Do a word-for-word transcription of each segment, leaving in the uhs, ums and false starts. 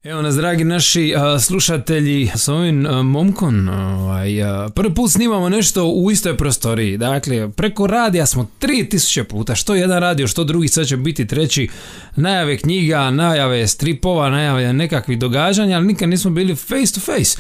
Evo nas, dragi naši a, slušatelji, s ovim a, momkom ovaj, a, prvi put snimamo nešto u istoj prostoriji. Dakle, preko radija smo tri tisuće puta, što jedan radio, što drugi, sad će biti treći. Najave knjiga, najave stripova, najave nekakvih događanja, ali nikad nismo bili face to face.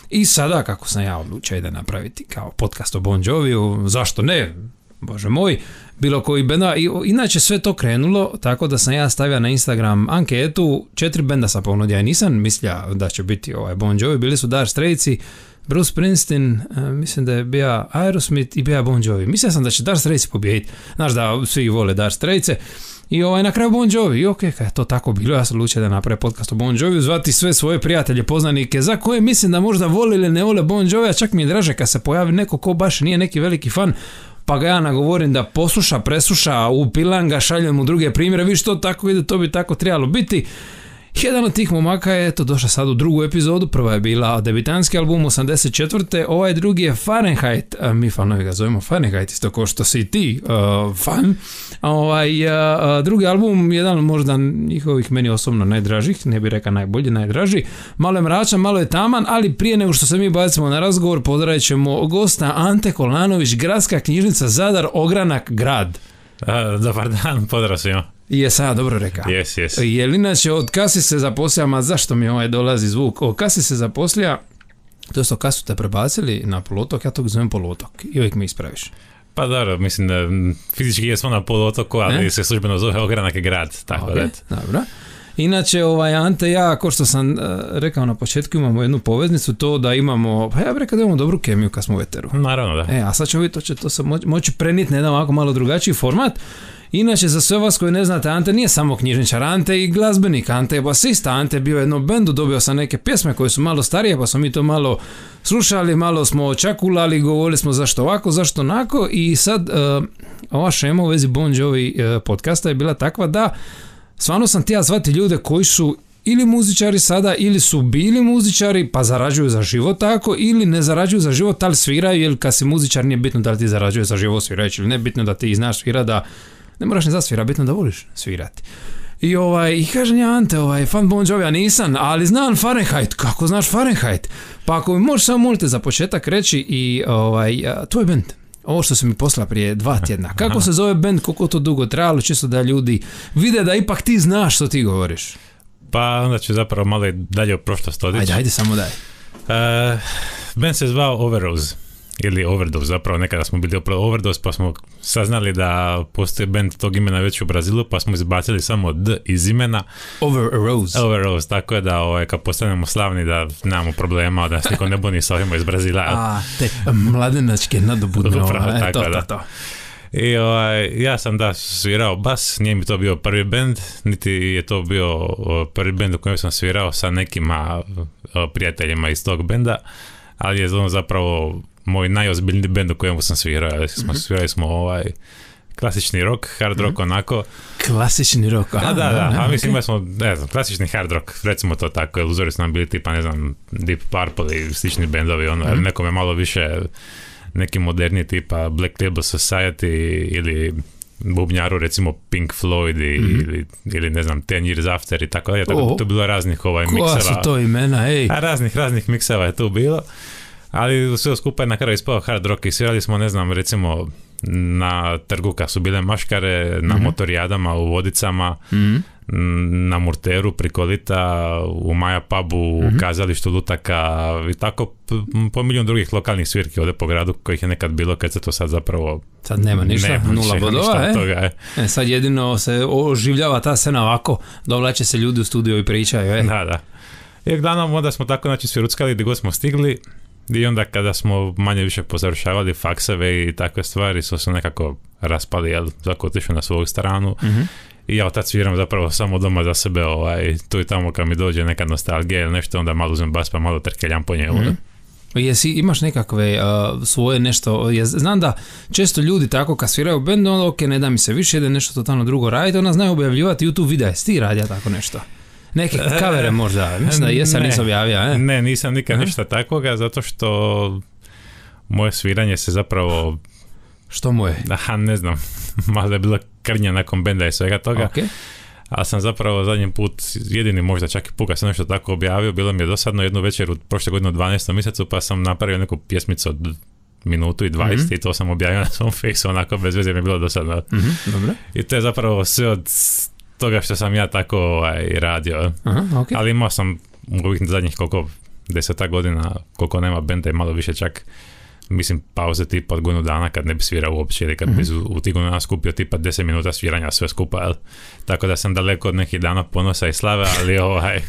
I sada, kako sam ja odlučio da napraviti kao podcast o Bon Joviju, zašto ne, bože moj, bilo koji benda. I, inače sve to krenulo tako da sam ja stavio na Instagram anketu, četiri benda sam ponudio, ja nisam mislio da će biti ovaj Bon Jovi, bili su Dire Straitsi, Bruce Springsteen, uh, mislim da je bio Aerosmith i bio Bon Jovi. Mislio sam da će Dire Straitsi pobijediti, znaš da svi vole Dire Straitse. I ovaj, na kraju Bon Jovi, i ok, kad je to tako bilo, ja sam odlučio da napravim podcast o Bon Joviju, zvati sve svoje prijatelje, poznanike, za koje mislim da možda vole ili ne vole Bon Jovi, a čak mi je draže kad se pojavi neko ko baš nije neki veliki fan, pa ga ja nagovorim da posluša, presluša, upilam ga, šaljem mu druge primjere, vi što tako ide, to bi tako trebalo biti. Jedan od tih momaka je to došao sad u drugu epizodu, prva je bila debitanski album osamdeset četvrte. Ovaj drugi je Fahrenheit, mi fanovi ga zovemo Fahrenheit, isto kao što si ti uh, fan. Ovaj, uh, drugi album, jedan možda njihovih meni osobno najdražih, ne bih rekao najbolji, najdraži. Malo je mračan, malo je taman, ali prije nego što se mi bacimo na razgovor, pozdravit ćemo gosta Ante Kolanović, Gradska knjižnica Zadar, Ogranak, grad. A, dobar dan, pozdrav svima. Jesam ja dobro rekao. Jes, jes. Jel inače od kad si se zaposlija, ma zašto mi ovaj dolazi zvuk, od kad si se zaposlija, to jest od kad su te prebacili na poluotok, ja to zovem poluotok i uvijek mi ispraviš. Pa dobro, mislim da fizički jesmo na poluotoku, ali e? se službeno zove Ogranak grad, tako okay, da. Dobro. Inače, ovaj, Ante, ja, kao što sam uh, rekao na početku, imamo jednu poveznicu, to da imamo, pa ja bih rekao da imamo dobru kemiju kad smo u eteru. Naravno, da. E, a sad ćemo vidjeti, to će to se moći, moći prenijeti na jedan ovako malo drugačiji format. Inače, za sve vas koji ne znate, Ante nije samo knjižničar, Ante i glazbenik, Ante je basista, Ante je bio u jednom bendu, dobio sam neke pjesme koje su malo starije, pa smo mi to malo slušali, malo smo čakulali, govorili smo zašto ovako, zašto onako, i sad uh, ova šema u vezi Bon Jovi uh, podcasta je bila takva da stvarno sam htio zvati ljude koji su ili muzičari sada, ili su bili muzičari pa zarađuju za život tako, ili ne zarađuju za život, ali sviraju, jer kad si muzičar nije bitno da li ti zarađuje za život svirajući ili ne, bitno da ti znaš svira, da ne moraš ne zasvira, bitno da voliš svirati. I ovaj, i kažem ja, Ante, ovaj, fan Bon Jovi, ja nisam, ali znam Fahrenheit. Kako znaš Fahrenheit? Pa ako mi možeš samo molite za početak reći i ovaj, tvoj band, ovo što se mi poslala prije dva tjedna, kako se zove band, koliko to dugo trajalo, čisto da ljudi vide da ipak ti znaš što ti govoriš. Pa onda ću zapravo malo i dalje u prošlost odići. Ajde, ajde, samo daj. Uh, band se zvao Overdose, ili Overdose, zapravo nekada smo bili Overdose, pa smo saznali da postoji band tog imena već u Brazilu, pa smo izbacili samo D iz imena. Overrose. Overrose, tako je da ovaj, kad postanemo slavni da nemamo problema, da se niko ne buni sa ovima iz Brazila. A, te mladenačke nadobudne. Upravo, e, tako to, da. To, to. I ovaj, ja sam da svirao bas, nije mi to bio prvi band, niti je to bio prvi band u kojem sam svirao sa nekima prijateljima iz tog benda, ali je on zapravo moj najozbiljniji bend u kojemu sam svirao. Smo, svirali smo ovaj klasični rock, hard rock, mm-hmm. onako. Klasični rock, a, da, da, da, a mislim da smo, ne znam, klasični hard rock, recimo to tako, jer uzori su nam bili tipa, ne znam, Deep Purple i slični bendovi, ono, mm-hmm. nekome malo više neki moderni tipa Black Label Society ili bubnjaru recimo Pink Floyd i, mm-hmm. ili, ili ne znam Ten Years After i tako dalje, tako da to je bilo raznih ovaj mikseva. Koja su to imena, ej? A raznih, raznih mikseva je tu bilo. Ali sve skupa je na kraju ispao hard rock i svirali smo, ne znam, recimo na trgu kad su bile maškare, na mm-hmm. motorijadama u Vodicama, mm-hmm. na Murteru, Prikolita, u Maja pubu, mm-hmm. u kazalištu Lutaka i tako po milijun drugih lokalnih svirki ovdje po gradu kojih je nekad bilo, kad se to sad zapravo sad nema ništa, nema, nula bodova, e? Toga, e. E, sad jedino se oživljava ta scena ovako, dovlače se ljudi u studiju i pričaju, e? Da, da. I uglavnom onda smo tako znači sviruckali gdje god smo stigli. I onda kada smo manje više pozavršavali fakseve i takve stvari su se nekako raspali, jel, svako otišao na svoju stranu. Mm-hmm. I ja od tad sviram zapravo samo doma za sebe, ovaj, tu i tamo kad mi dođe neka nostalgija ili nešto, onda malo uzmem bas pa malo trkeljam po njemu. Mm-hmm. Jesi, imaš nekakve uh, svoje nešto, je, znam da često ljudi tako kad sviraju u bendu, onda ok, ne da mi se više, ide nešto totalno drugo raditi, onda znaju objavljivati YouTube videa, jesi ti radija tako nešto? Neke kavere možda, mislim da jesam, nisam objavio, ne? Ne, nisam nikad uh-huh. ništa takvoga, zato što moje sviranje se zapravo... Što moje? Aha, ne znam, malo je bilo krnja nakon benda i svega toga. Okay. A sam zapravo zadnji put, jedini možda čak i put kad sam nešto tako objavio, bilo mi je dosadno jednu večer u prošle godine u dvanaestom mjesecu, pa sam napravio neku pjesmicu od minutu i dvadeset mm-hmm. i to sam objavio na svom fejsu, onako bez veze mi je bilo dosadno. Mm-hmm, dobro. I to je zapravo sve od toga što sam ja tako ovaj, radio. Aha, okay. Ali imao sam u ovih zadnjih koliko deseta godina, koliko nema benda i malo više čak, mislim, pauze tipa od godinu dana kad ne bi svirao uopće ili kad mm-hmm. bi u, u tih godinu dana skupio tipa deset minuta sviranja sve skupa, jel? Tako da sam daleko od nekih dana ponosa i slave, ali ovaj...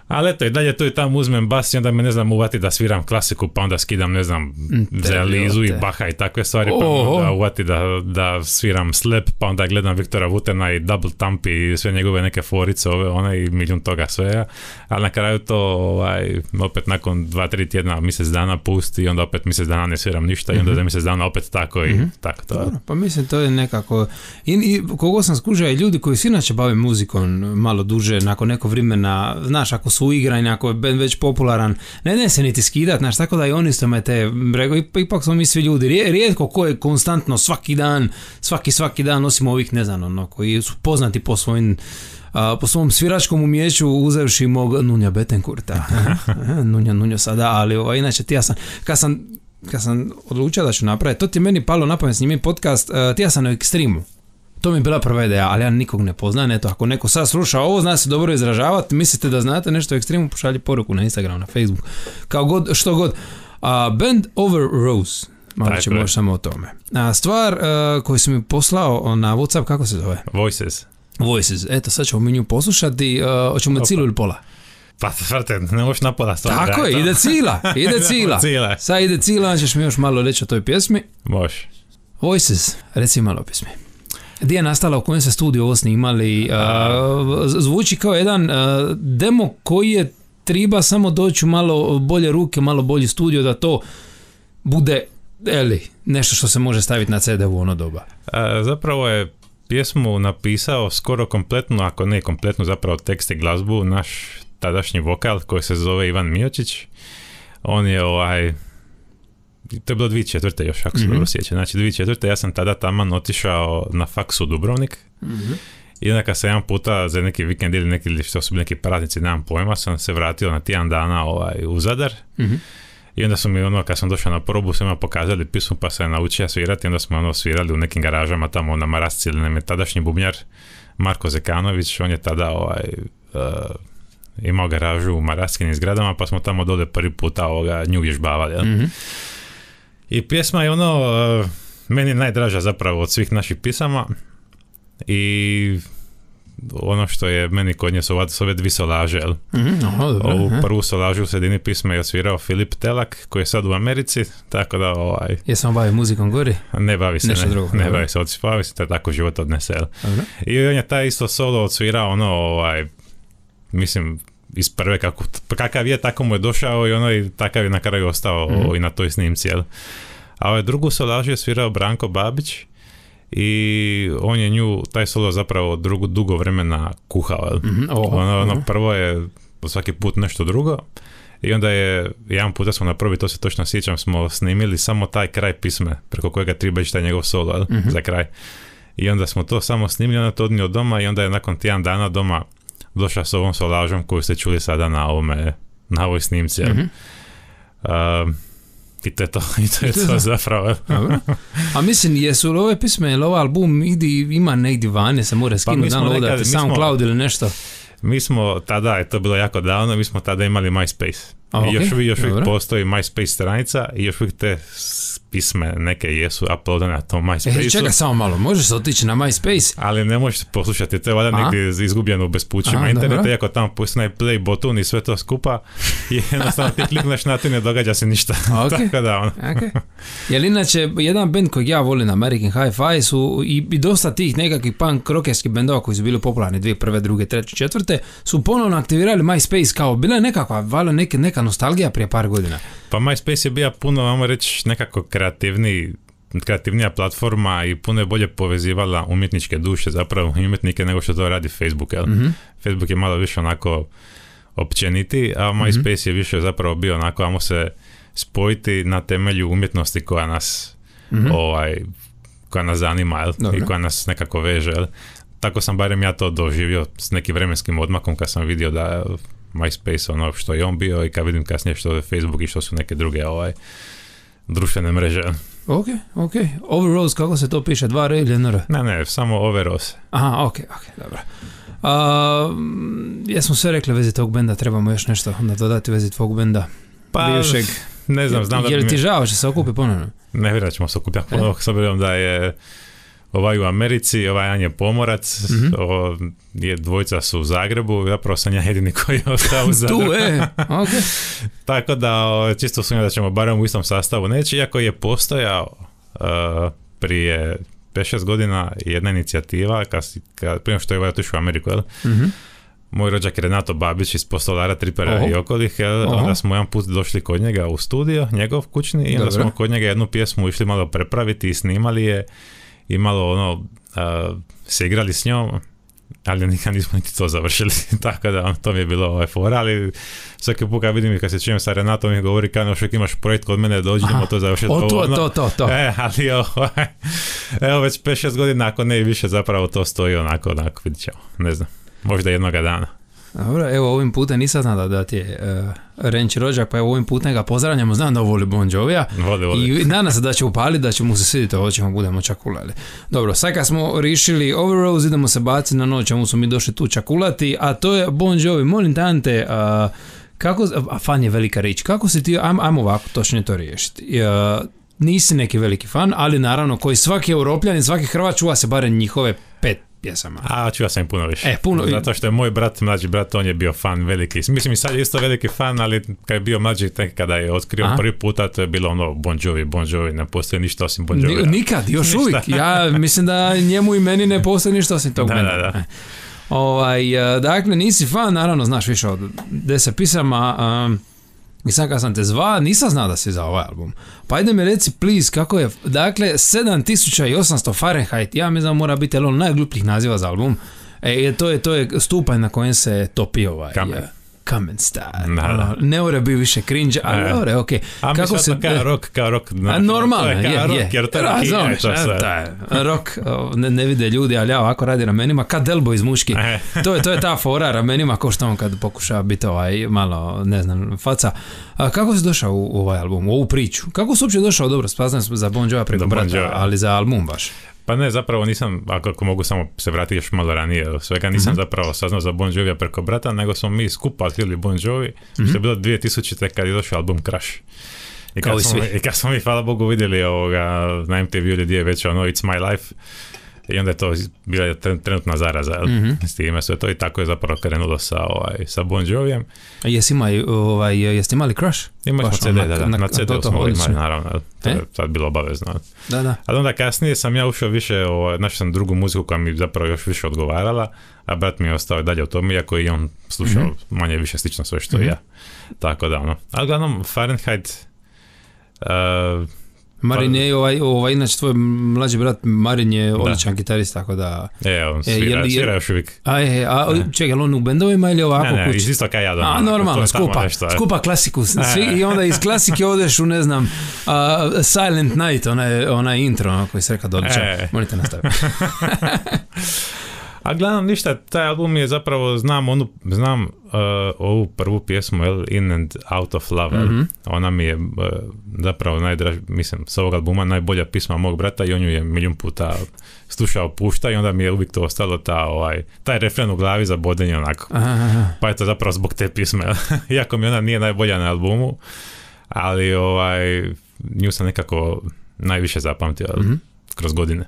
Ali eto, i dalje tu i tamo uzmem bas i onda me, ne znam, uvati da sviram klasiku, pa onda skidam, ne znam, za Lizu i Baha i takve stvari, pa onda uvati da, da sviram Slap, pa onda gledam Viktora Vutena i Double Thump i sve njegove neke forice, ove, one i milijun toga svega, ali na kraju to ovaj, opet nakon dva, tri tjedna, mjesec dana pusti i onda opet mjesec dana ne sviram ništa i onda za mjesec dana opet tako i mm-hmm. tako to. Dobro, pa mislim, to je nekako, i, i kogo sam skužio, i ljudi koji se inače bave muzikom malo duže, nakon nekog vremena, znaš, ako su igranje, ako je band već popularan, ne ne se niti skidat, znaš, tako da i oni isto me te, rego, ipak smo mi svi ljudi, rijetko ko je konstantno svaki dan, svaki svaki dan, osim ovih, ne znam, ono, koji su poznati po svojim, a, po svom sviračkom umjeću, uzevši mog Nunja Betancourta, Nunja, Nunja sada, ali ovo, inače ti ja sam, kad sam, kad sam odlučio da ću napraviti, to ti je meni palo na pamet snimim podcast, uh, ti ja sam na Ekstremu. To mi je bila prva ideja, ali ja nikog ne poznajem. Eto, ako neko sad sluša ovo, zna se dobro izražavati, mislite da znate nešto o Ekstremu, pošalji poruku na Instagram, na Facebook, kao god, što god. Uh, Band Over Rose, malo ćemo još samo o tome. A stvar uh, koju sam mi poslao na WhatsApp, kako se zove? Voices. Voices, eto, sad ćemo mi nju poslušati, uh, hoćemo Opa. cilu ili pola? Pa, vrte, ne možeš napola stvar. Tako je, ide cila, ide cila. Sad ide cila, ćeš mi još malo reći o toj pjesmi. Može. Voices, reci malo o pjesmi. Gdje je nastala, u kojem se studiju ovo snimali, uh, zvuči kao jedan uh, demo koji je treba samo doći u malo bolje ruke, malo bolji studio da to bude, eli, nešto što se može staviti na ce de u ono doba. Uh, zapravo je pjesmu napisao skoro kompletno, ako ne kompletno, zapravo tekst i glazbu, naš tadašnji vokal koji se zove Ivan Miočić. On je ovaj... To je bilo dvije četvrte još, ako se mm-hmm. dobro sjeća. Znači, dvije četvrte, ja sam tada taman otišao na faks u Dubrovnik. Mm-hmm. I onda kad sam jedan puta za neki vikend ili neki, što su bili neki praznici, nemam pojma, sam se vratio na tjedan dana ovaj, u Zadar. Mm-hmm. I onda su mi ono, kad sam došao na probu, su mi pokazali pismu, pa sam naučio svirati. Onda smo ono svirali u nekim garažama tamo na Marasci, ili nam je tadašnji bubnjar Marko Zekanović, on je tada ovaj... Uh, imao garažu u Maraskinim zgradama, pa smo tamo dole prvi puta ovoga nju vježbavali. Ja? Mm-hmm. I pjesma je ono, uh, meni najdraža zapravo od svih naših pisama i ono što je meni kod nje su ove dvije solaže. Mm-hmm, oh, dobro, ovu prvu solažu u sredini pisma je osvirao Filip Telak, koji je sad u Americi, tako da ovaj... Jesam bavi muzikom gori? Ne bavi se, Nešto ne, drugo, ne bavi se, bavi se, to je tako život odnese. I on je taj isto solo odsvirao ono, ovaj, mislim, iz prve, kako, kakav je, tako mu je došao i ono i takav je na kraju ostao mm-hmm. i na toj snimci, jel? A ovaj drugu solažu je svirao Branko Babić i on je nju, taj solo zapravo drugo, dugo vremena kuhao, jel? Mm-hmm. Oh, ono, ono uh-huh. prvo je svaki put nešto drugo i onda je, jedan puta smo na prvi, to se točno sjećam, smo snimili samo taj kraj pisme, preko kojega treba ići taj njegov solo, jel? Mm-hmm. Za kraj. I onda smo to samo snimili, onda to odnio doma i onda je nakon tjedan dana doma došao s ovom solažom koju ste čuli sada na ovome, na ovoj snimci. Mm-hmm. Uh, I to je to, i to, je to zapravo. A mislim, jesu li ove pisme, ili ovaj album idi, ima negdje vane, se mora skinuti, pa downloadati SoundCloud ili nešto? Mi smo tada, je to bilo jako davno, mi smo tada imali MySpace. A, okay. I još uvijek, još uvijek postoji MySpace stranica i još uvijek te pisme neke jesu uploadane na tom MySpace-u. E, čekaj samo malo, možeš se otići na MySpace? Ali ne možeš poslušati, to je valjda negdje izgubljeno u bespućima interneta, iako tamo pusti play button i sve to skupa i jednostavno ti klikneš na to i ne događa se ništa. Okay. Tako da, ono. Okay. Jer inače, jedan band kojeg ja volim, American Hi-Fi, su i, i dosta tih nekakvih punk rockerskih bendova koji su bili popularni dvije, prve, druge, treće, četvrte, su ponovno aktivirali MySpace kao, bila je nekakva, valjda neke, neka nostalgija prije par godina. Pa MySpace je bio puno, vamo reći, nekako kreativniji, kreativnija platforma i puno je bolje povezivala umjetničke duše zapravo i umjetnike nego što to radi Facebook. Jel? Mm-hmm. Facebook je malo više onako općeniti, a MySpace mm-hmm. je više zapravo bio onako, vamo se spojiti na temelju umjetnosti koja nas mm-hmm. ovaj, koja nas zanima, jel? I koja nas nekako veže. Jel? tako sam barem ja to doživio s nekim vremenskim odmakom kad sam vidio da MySpace ono što je on bio i kad vidim kasnije što je Facebook i što su neke druge ovaj, društvene mreže. Ok, ok. Overrose, kako se to piše? Dva R ili jedno R? Ne, ne, samo Overrose. Aha, ok, ok, dobro. Uh, jesmo sve rekli vezi tog benda, trebamo još nešto onda dodati vezi tvog benda. Pa, bivšeg. ne znam, znam je, da je bi li ti mi... žao će se okupi ponovno? Ne vjerujem da ćemo se okupiti ponovno, s obzirom da je ovaj u Americi, ovaj Jan je pomorac, mm-hmm. o, je, dvojica su u Zagrebu, zapravo sam ja jedini koji je ostao u Zagrebu. Tu, e, ok. Tako da, o, čisto sumnjam da ćemo barem u istom sastavu neći, iako je postojao uh, prije pet šest godina jedna inicijativa, kad, kad, prije što je ovaj otišao u Ameriku, jel? Mm-hmm. Moj rođak je Renato Babić iz Postolara, Tripera Oho. i okolih, jel? Onda smo jedan put došli kod njega u studio, njegov kućni, i onda Dobre. smo kod njega jednu pjesmu išli malo prepraviti i snimali je i malo ono, uh, se igrali s njom, ali nikad nismo niti to završili, tako da on, to mi je bilo ovaj fora, ali svaki put kad vidim i kad se čujem sa Renatom mi govori kao još imaš projekt kod mene, dođemo to završiti. O, to, to, to, to. E, ali ovo, evo već pet šest godina, ako ne i više, zapravo to stoji onako, onako, vidit ćemo, ne znam, možda jednoga dana. Dobro, evo ovim putem nisam znao da ti je uh, Renči rođak, pa evo ovim putem ga pozdravljamo, znam da voli Bon Jovija voli, voli. I nadam se da će upaliti, da će mu se svidjeti, ovo ćemo budemo čakulali. Dobro, sad kad smo rišili Overrose, idemo se baciti na noć, čemu smo mi došli tu čakulati, a to je Bon Jovi. Molim tante, uh, kako, a fan je velika riječ, kako si ti, ajmo, ajmo ovako točno to riješiti. Uh, nisi neki veliki fan, ali naravno koji svaki Europljanin, svaki Hrvat čuva se barem njihove pet pjesama. A, čuo sam im puno više. E, puno... Zato što je moj brat, mlađi brat, on je bio fan veliki. Mislim, i sad je isto veliki fan, ali kad je bio mlađi, tek kada je otkrio Aha. prvi puta, to je bilo ono Bon Jovi, Bon Jovi, ne postoji ništa osim Bon Jovi. Nikad, još ništa. Uvijek. Ja mislim da njemu i meni ne postoji ništa osim tog mene. Da, da, da. Ovaj, dakle, nisi fan, naravno, znaš više od deset pisama, um, i sad kad sam te zvao, nisam znao da si za ovaj album. Pa ajde mi reci, please, kako je, dakle, sedam tisuća osamsto Fahrenheit, ja mislim da mora biti jedan od najglupljih naziva za album. E, to je, to je stupanj na kojem se topi ovaj... Kamen. Kamen style. Da, da. Ne ore bi više cringe, ali ne ore, okej. A kako se kao rock, kao rock. A normalno, je, je. Rock, jer to je Razumeš, to sve. Rock, ne, ne vide ljudi, ali ja ovako radi ramenima, kad Delbo iz Muški. To je, to je ta fora ramenima, ko što on kad pokuša biti ovaj malo, ne znam, faca. A kako si došao u, u ovaj album, u ovu priču? Kako si uopće došao, dobro, spaznam za Bon Jovi preko brata, ali za album baš? Pa ne, zapravo nisam, ako mogu samo se vratiti još malo ranije, svega nisam mm-hmm. zapravo saznao za Bon Jovija preko brata, nego smo mi skupa otkrili Bon Jovi, mm-hmm. što je bilo dvije tisućite kad je došao album Crash. I kad, smo, I kad smo mi, hvala Bogu, vidjeli ovoga, na M T V-u gdje je već ono It's My Life, i onda je to bila trenutna zaraza mm-hmm. s time sve to i tako je zapravo krenulo sa, ovaj, sa Bon Jovijem. A jesi imali, ovaj, jeste imali Crash? Imali smo C D, da, da, na, na C D-u smo imali, naravno, to e? je sad bilo obavezno. Da, da. Ali onda kasnije sam ja ušao više, ovaj, našao sam drugu muziku koja mi zapravo još više odgovarala, a brat mi je ostao dalje u tom, iako i on slušao mm-hmm. manje više slično sve što mm-hmm. ja. Tako da, ono. Ali glavnom, Fahrenheit... Uh, Marin je ovaj, ovaj, inače tvoj mlađi brat Marin je odličan gitarist, tako da... E, on svira, e, svira još uvijek. A, je, a čekaj, je on u bendovima ili ovako kući? Ne, ne, iz isto kaj ja doma. A, normalno, skupa, nešto, skupa klasiku. Svi, i onda iz klasike odeš u, ne znam, uh, Silent Night, onaj, onaj intro, ono, koji se reka odličan. E. Molite nastaviti. A gledam ništa, taj album je zapravo, znam onu, znam uh, ovu prvu pjesmu, el, In and Out of Love, mm-hmm. ona mi je uh, zapravo najdraž, mislim, s ovog albuma najbolja pisma mog brata i on ju je milijun puta slušao, pušta i onda mi je uvijek to ostalo ta, ovaj, taj refren u glavi za bodenje onako. Aha. Pa je to zapravo zbog te pisme, iako mi ona nije najbolja na albumu, ali ovaj, nju sam nekako najviše zapamtio mm-hmm. kroz godine.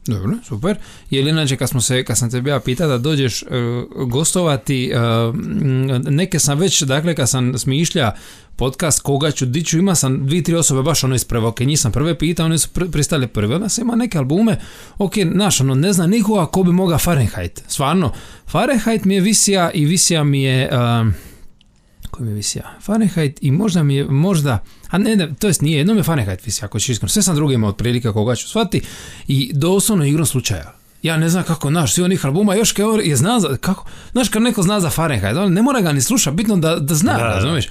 Dobro, super. Je li inače kad smo se, kad sam te bija pitao da dođeš uh, gostovati, uh, neke sam već, dakle kad sam smišlja podcast koga ću, di ću, ima sam dvije, tri osobe baš ono iz prve, ok, njih sam prve pitao, oni su pr- pristali prve, onda sam ima neke albume, ok, znaš, ono, ne zna nikoga ko bi mogao Fahrenheit, stvarno, Fahrenheit mi je visija i visija mi je, uh, koji mi je visija, Fahrenheit i možda mi je, možda, a ne, ne, to jest nije, jedno mi je Fahrenheit visija, ako ću iskreno, sve sam drugi imao otprilike koga ću shvati i doslovno igrom slučaja. Ja ne znam kako, znaš, svi onih albuma, još kao je zna za, kako, znaš kad neko zna za Fahrenheit, ne mora ga ni slušati, bitno da, da zna, razumiješ?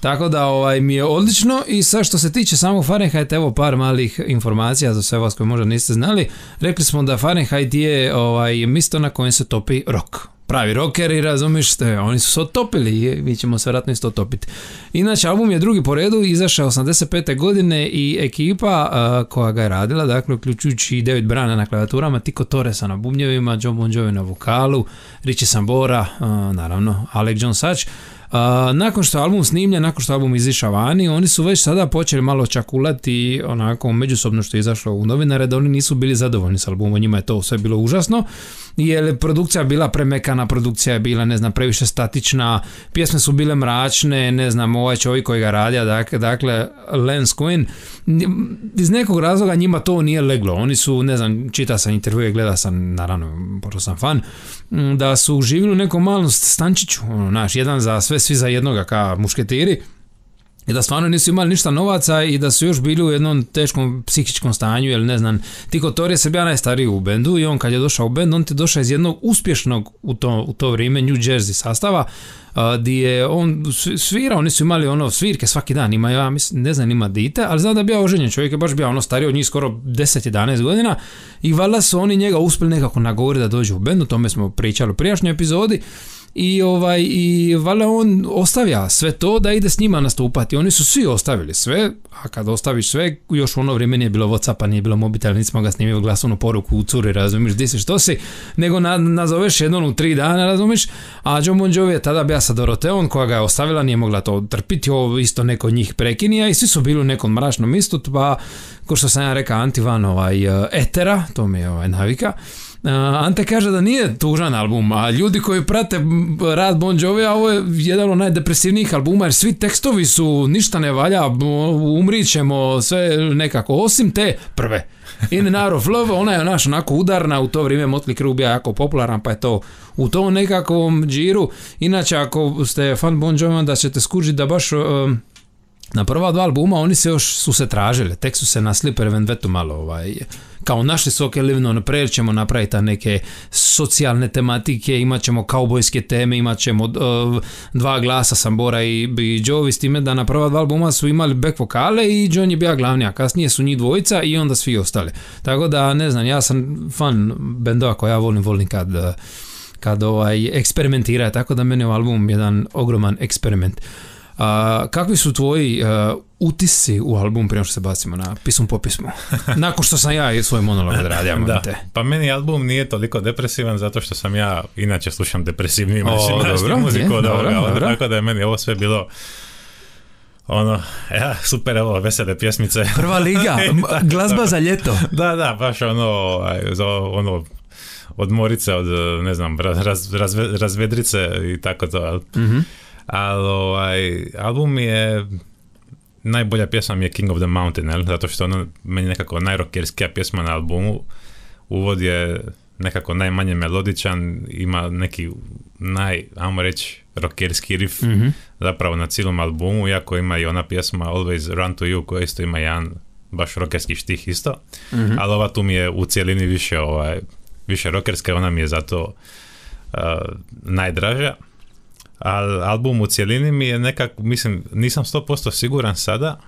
Tako da ovaj, mi je odlično i sad što se tiče samog Fahrenheit, evo par malih informacija za sve vas koji možda niste znali. Rekli smo da Fahrenheit je ovaj, mjesto na kojem se topi rock. Pravi rockeri, razumiješ, te, oni su se otopili i mi ćemo se vjerojatno isto otopiti. Inače, album je drugi po redu, izašao osamdeset pete godine i ekipa uh, koja ga je radila, dakle, uključujući David Brana na klavijaturama, Tico Torresa na bubnjevima, John Bon Jovi na vokalu, Richie Sambora, uh, naravno, Alec John Such. Uh, nakon što je album snimljen, nakon što je album izišao vani, oni su već sada počeli malo čakulati onako međusobno što je izašlo u novinare, da oni nisu bili zadovoljni s albumom, njima je to sve bilo užasno, jer produkcija bila premekana, produkcija je bila, ne znam, previše statična, pjesme su bile mračne, ne znam, ovaj čovjek koji ga radija, dakle, dakle Lance Quinn, iz nekog razloga njima to nije leglo, oni su, ne znam, čita sam intervjue, gleda sam, naravno, pošto sam fan, da su živjeli u nekom malom stančiću, ono, naš, jedan za sve, svi za jednoga, kao mušketiri, i da stvarno nisu imali ništa novaca i da su još bili u jednom teškom psihičkom stanju, jer ne znam, Tico Torres je bio najstariji u bendu i on kad je došao u bend, on ti je došao iz jednog uspješnog u to, u to vrijeme New Jersey sastava, gdje je on svirao, oni su imali ono svirke svaki dan, ima, ja mislim, ne znam, ima dite, ali znam da je bio oženjen, čovjek je baš bio ono stariji od njih skoro deset jedanaest godina i valjda su oni njega uspjeli nekako nagovoriti da dođe u bend, o tome smo pričali u prijašnjoj epizodi. I ovaj i valjda on ostavlja sve to da ide s njima nastupati. Oni su svi ostavili sve, a kad ostaviš sve, još u ono vrijeme nije bilo WhatsAppa, nije bilo mobitela, nismo ga snimio glasovnu poruku u curi, razumiješ, di si, što si, nego na, nazoveš jednom u tri dana, razumiješ, a John Bon Jovi je tada bio sa Doroteom koja ga je ostavila, nije mogla to trpiti, ovo isto neko od njih prekinija i svi su bili u nekom mračnom istu, pa ko što sam ja rekao, Antivan ovaj, etera, to mi je ovaj, navika. Uh, Ante kaže da nije tužan album, a ljudi koji prate rad Bon Jovija, ovo je jedan od najdepresivnijih albuma, jer svi tekstovi su ništa ne valja, umrit ćemo, sve nekako, osim te prve. In and Out of Love, ona je naš onako udarna, u to vrijeme Motley Crue bio jako popularan, pa je to u tom nekakvom džiru. Inače, ako ste fan Bon Jovija, da ćete skužiti da baš... Uh, na prva dva albuma oni se još su se tražili, tek su se na Slipper Venvetu malo ovaj, kao našli su ok, Living on a Prayer, ćemo napraviti neke socijalne tematike, imat ćemo kaubojske teme, imat ćemo uh, dva glasa Sambora i, i Jovi, s time da na prva dva albuma su imali back vokale i John je bio glavni, a kasnije su njih dvojica i onda svi ostali. Tako da, ne znam, ja sam fan bendova koja ja volim, volim kad, kad ovaj, eksperimentira, tako da meni je album jedan ogroman eksperiment. Uh, kakvi su tvoji uh, utisci u album prije što se bacimo na pismu po pismu? Nakon što sam ja svoj monolog odradio. Da, pa meni album nije toliko depresivan zato što sam ja inače slušam depresivniju muziku od ovoga, tako da je meni ovo sve bilo ono, ja, super, evo, vesele pjesmice. Prva liga, glazba za ljeto. Da, da, baš ono, za ono odmorice od, ne znam, raz, raz, razvedrice i tako to. Mhm. Ali ovaj, album je najbolja pjesma mi je King of the Mountain, jel? Zato što ono meni nekako najrockerskija pjesma na albumu, uvod je nekako najmanje melodičan, ima neki naj, ajmo reći, rockerski riff mm-hmm. zapravo na cijelom albumu, iako ima i ona pjesma Always Run to You koja isto ima jedan baš rockerski štih isto, mm-hmm. ali ova tu mi je u cijelini više, ovaj, više rockerska, ona mi je zato uh, najdraža. Al, album u cijelini mi je nekako, mislim, nisam sto posto siguran sada,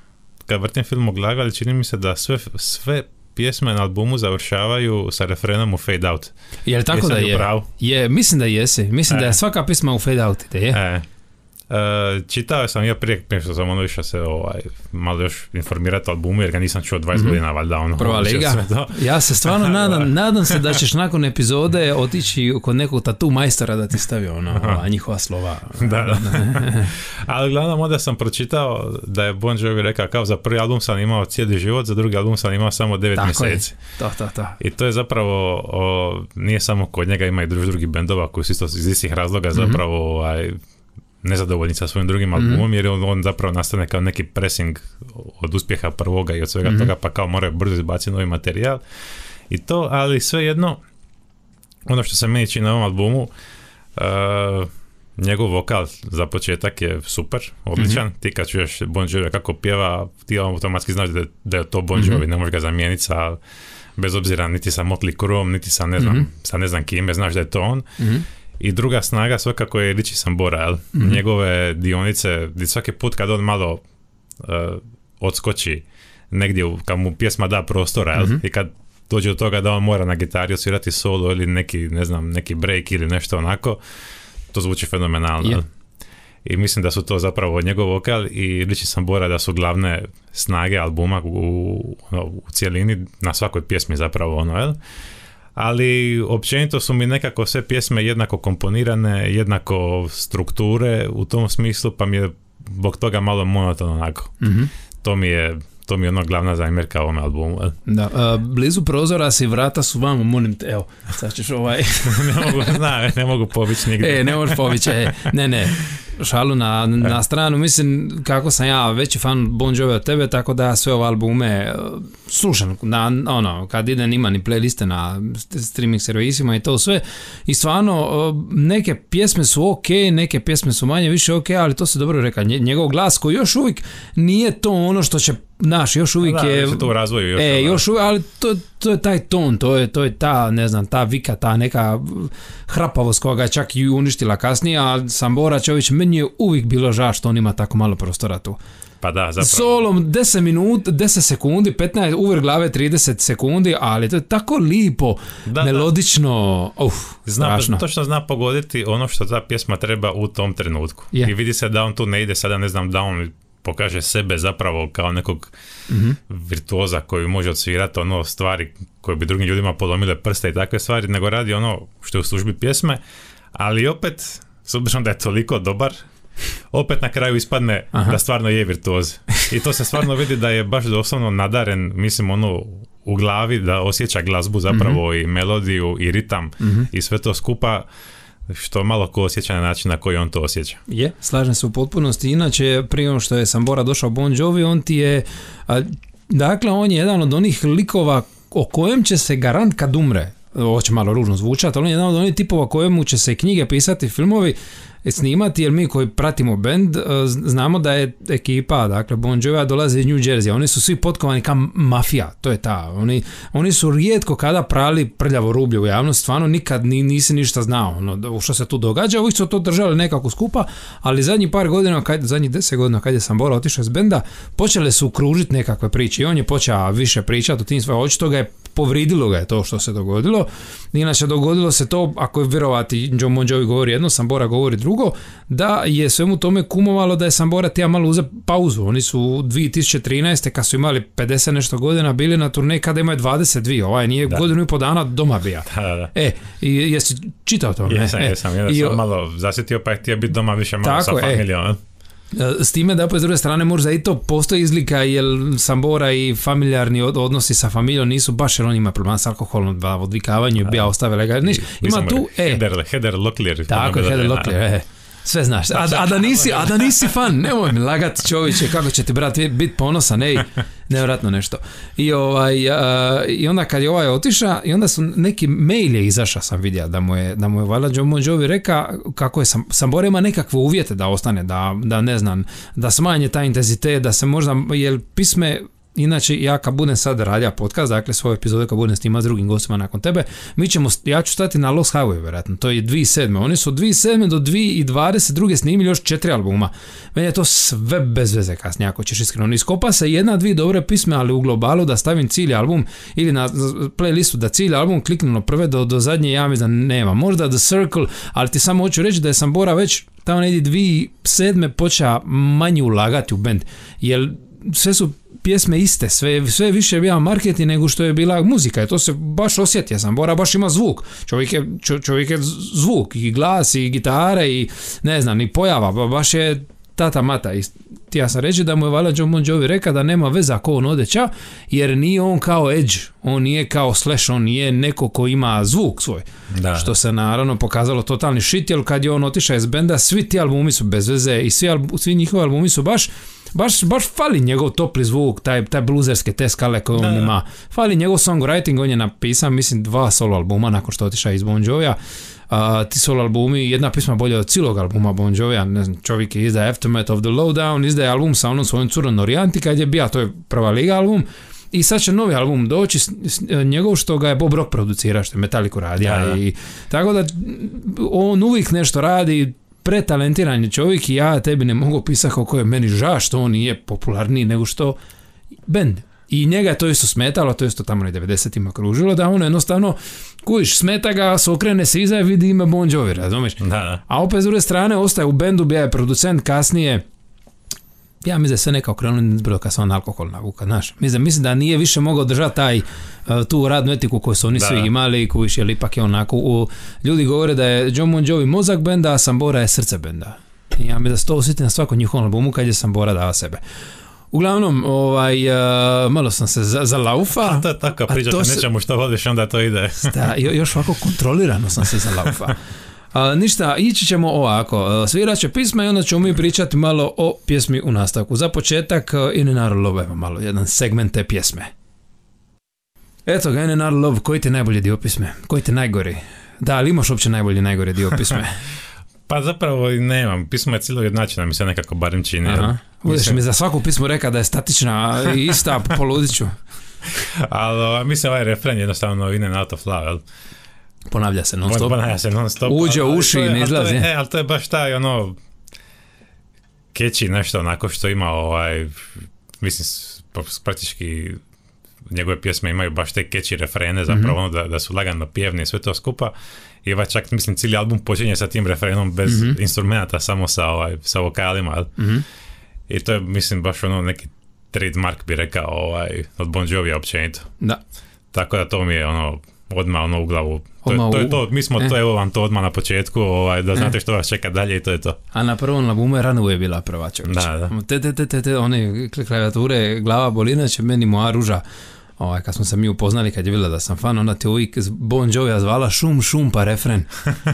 kad vrtim film u glavi, ali čini mi se da sve, sve pjesme na albumu završavaju sa refrenom u Fade Out. Je li tako da je? Je, mislim da jesi. Mislim e. da je svaka pjesma u Fade Out ide, je? E. Uh, čitao sam ja prije, prije što sam ono išao se ovaj, malo još informirati o albumu, jer ga nisam čuo dvadeset mm-hmm. godina, valjda ono. Prva liga. Ja se stvarno nadam, nadam se da ćeš nakon epizode otići kod nekog tatu majstora da ti stavi ono, ova, njihova slova. Da, da. Ali uglavnom onda sam pročitao da je Bon Jovi rekao kao za prvi album sam imao cijeli život, za drugi album sam imao samo devet tako mjeseci. To, to, to. I to je zapravo, o, nije samo kod njega, ima i drugi, drugi bendova koji su isto iz istih razloga mm-hmm. zapravo ovaj, nezadovoljni sa svojim drugim albumom, mm-hmm. jer on, on zapravo nastane kao neki pressing od uspjeha prvoga i od svega mm-hmm. toga, pa kao moraju brzo izbaciti novi materijal i to, ali svejedno ono što se meni čini na ovom albumu, uh, njegov vokal za početak je super, odličan, mm-hmm. ti kad čuješ Bon Jovi kako pjeva, ti automatski znaš da, da je to Bon Jovi, mm-hmm. ne možeš ga zamijeniti sa, bez obzira niti sa Motley Crueom, niti sa ne znam, mm-hmm. sa ne znam kime, znaš da je to on. Mm-hmm. I druga snaga svakako je Richie Sambora, jel? Mm-hmm. Njegove dionice, svaki put kad on malo uh, odskoči negdje, kad mu pjesma da prostora, jel? Mm-hmm. I kad dođe do toga da on mora na gitari osvirati solo ili neki, ne znam, neki break ili nešto onako, to zvuči fenomenalno. Yeah. I mislim da su to zapravo njegov vokal i Richie Sambora da su glavne snage albuma u, no, u cijelini, na svakoj pjesmi zapravo ono, jel? Ali općenito su mi nekako sve pjesme jednako komponirane, jednako strukture u tom smislu, pa mi je zbog toga malo monotono onako. Mm-hmm. To mi je To mi je ono glavna zamjerka ovome albumu. Da, a, blizu prozora si, vrata su vamo, molim te, evo, sad ćeš ovaj... ne mogu, zna, ne mogu pobići nigdje. E, ne možeš pobići, e, ne, ne, šalu na, na stranu, mislim, kako sam ja veći fan Bon Jovi od tebe, tako da sve ove albume slušam, na, ono, kad idem ima ni playliste na streaming servisima i to sve, i stvarno, neke pjesme su ok, neke pjesme su manje više ok, ali to se dobro reka, njegov glas koji još uvijek nije to ono što će naš, još uvijek da, je... Da, to u razvoju još. E, još uvijek, ali to, to je taj ton, to je, to je ta, ne znam, ta vika, ta neka hrapavost koja ga čak i uništila kasnije, a Sambora Čović, meni je uvijek bilo žao što on ima tako malo prostora tu. Pa da, zapravo. Solom deset minuta, deset sekundi, petnaest, uver glave trideset sekundi, ali to je tako lipo, da, melodično, da. Uf, zna, strašno. Točno zna pogoditi ono što ta pjesma treba u tom trenutku. Yeah. I vidi se da on tu ne ide sada, ne znam, da on pokaže sebe zapravo kao nekog mm-hmm. virtuoza koji može odsvirati ono stvari koje bi drugim ljudima polomile prste i takve stvari, nego radi ono što je u službi pjesme, ali opet, s obzirom da je toliko dobar, opet na kraju ispadne Aha. da stvarno je virtuoz. I to se stvarno vidi da je baš doslovno nadaren, mislim, ono u glavi, da osjeća glazbu zapravo mm-hmm. i melodiju i ritam mm-hmm. i sve to skupa, što malo ko osjeća na način na koji on to osjeća. Je, slažem se u potpunosti. Inače, prije što je Sambora došao Bon Jovi, on ti je, a, dakle, on je jedan od onih likova o kojem će se garant kad umre, ovo će malo ružno zvučati, ali on je jedan od onih tipova kojemu će se knjige pisati, filmovi snimati, jer mi koji pratimo bend znamo da je ekipa, dakle Bon Jovi dolaze iz New Jersey, oni su svi potkovani kao mafija, to je ta, oni, oni su rijetko kada prali prljavo rublje u javnost, stvarno nikad ni, nisi ništa znao ono, što se tu događa, uvijek su to držali nekako skupa, ali zadnjih par godina, kad, zadnjih deset godina kad je Sambora otišao iz benda, počele su kružiti nekakve priče i on je počeo više pričati o tim svojim, očito ga je povridilo ga je to što se dogodilo. Inače, dogodilo se to, ako je vjerovati, John Bon Jovi govori jedno, Sambora govori drugo, da je svemu tome kumovalo da je Sambora tija malo uze pauzu. Oni su dvije tisuće trinaeste kad su imali pedeset nešto godina bili na turneji kada imaju dvadeset dvije, ovaj nije da. godinu i po dana doma bija. Da, da, da. E, i jesi čitao to? Jesam, e, jesam, ja sam malo zasjetio pa je htio biti doma više malo tako, sa familijom. E. S time da opet s druge strane možda i to postoji izlika jer Sambora i familijarni odnosi sa familijom nisu baš, jer on ima problema s alkoholom, da odvikavanju bija ostavile ga. Niš, ima tu, e. Heather, Heather Locklear. Tako je, Heather Locklear, e. Sve znaš, a, a, da nisi, a da nisi fan, nemoj mi lagat čovječe, kako će ti brat biti ponosan, ej, nevjerojatno nešto. I, ovaj, a, i onda kad je ovaj otiša, i onda su neki mail je izašao, sam vidio, da mu je, da mu je valjda John Bon Jovi reka kako je Sam, Sambora ima nekakve uvjete da ostane, da, da ne znam, da smanje taj intenzitet, da se možda, jer pisme, inače ja kad budem sad radija podcast, dakle svoje epizode kad budem snimati s drugim gostima nakon tebe, mi ćemo, ja ću stati na Lost Highway vjerojatno, to je dvije tisuće sedme. Oni su od dvije tisuće sedme do dvije tisuće dvadeset druge snimili još četiri albuma. Meni je to sve bez veze kasnije, ako ćeš iskreno. Iskopa se jedna, dvije dobre pisme, ali u globalu da stavim cilj album ili na playlistu da cilj album kliknulo prve do, do zadnje, ja mislim da nema. Možda The Circle, ali ti samo hoću reći da je Sambora već tamo negdje dvije tisuće sedme počeo manje ulagati u bend, jer sve su pjesme iste, sve, sve više je bila marketing nego što je bila muzika, i to se baš osjetio. Sambora baš ima zvuk, čovjek je, čovjek je zvuk, i glas, i gitare, i ne znam, i pojava, baš je tata mata. I ti ja sam reći da mu je valjda John Bon Jovi reka da nema veze ako on ode ča, jer nije on kao Edge, on nije kao Slash, on nije neko ko ima zvuk svoj, da. Što se naravno pokazalo totalni shit, jer kad je on otišao iz benda, svi ti albumi su bez veze i svi, albu, svi njihovi albumi su baš Baš, baš fali njegov topli zvuk, taj, taj bluzerske te skale koje on da, ima. Fali njegov songwriting, on je napisao, mislim, dva solo albuma nakon što otišao iz Bon Jovija. Uh, ti solo albumi, jedna pisma bolje od cijelog albuma Bon Jovija, ne znam, čovjek izdaje Aftermath of the Lowdown, izdaje album sa onom svojom curom Norijanti kad je bija, to je prva liga album. i sad će novi album doći s, s, njegov što ga je Bob Rock producira, što je Metallica radija da. i tako da on uvijek nešto radi, pretalentiran je čovjek i ja tebi ne mogu pisati kako je meni ža što on nije popularniji nego što bend. I njega je to isto smetalo, to isto tamo na devedesetima kružilo, da ono jednostavno, kujiš, smeta ga, se okrene se iza i vidi ime Bon Jovi, razumiješ? Da, da. A opet s druge strane ostaje u bendu, bio je producent kasnije, ja mislim da se neka okrenuli nizbrdo kad se on alkohol navuka, znaš. Mislim, mislim da nije više mogao držati taj, tu radnu etiku koju su oni da, svi imali, kujiš, jer ipak je onako, u, ljudi govore da je John Bon Jovi mozak benda, a Sambora je srce benda. I ja mislim da se to osjeti na svakom njihovom albumu kad je Sambora dava sebe. Uglavnom, ovaj, uh, malo sam se za, zalaufa. A to je tako, pričaš o nečemu što voliš, onda to ide. Da, još ovako kontrolirano sam se zalaufa. Uh, ništa, ići ćemo ovako, uh, svirat će pisma i onda ćemo mi pričati malo o pjesmi u nastavku. Za početak, uh, In and Out of Love, evo malo, jedan segment te pjesme. Eto ga, In and Out of Love, koji ti je najbolji dio pisme? Koji ti je najgori? Da, ali imaš uopće najbolji najgori dio pisme? Pa zapravo nemam, pismo je cijelo jednačina, mi se nekako barem čini. Aha. Budeš mi za svaku pismu reka da je statična i ista, poludiću. Ali mislim ovaj refren jednostavno In and Out of Love, jel? Ponavlja se non stop. Ponavlja se non stop. Uđe u uši i ne izlazi. E, ali to je baš taj ono catchy nešto onako što ima ovaj, mislim, praktički njegove pjesme imaju baš te catchy refrene, zapravo mm-hmm. ono da, da su lagano pjevni i sve to skupa. I ovaj čak, mislim, cijeli album počinje sa tim refrenom bez mm-hmm. instrumenta, samo sa, ovaj, sa vokalima. Mm-hmm. I to je, mislim, baš ono neki trademark bi rekao ovaj, od Bon Jovija općenito. Da. Tako da to mi je ono odmah ono u glavu. To, to je to, mi smo eh. to, evo vam to odmah na početku, ovaj, da znate eh. što vas čeka dalje i to je to. A na prvom albumu je Runaway bila prva čovječ. Da, da. Te, te, te, te, te, one klavijature, glava bolina će meni moja ruža. Ovaj, kad smo se mi upoznali, kad je bila da sam fan, ona te uvijek Bon Jovija zvala šum, šum pa refren.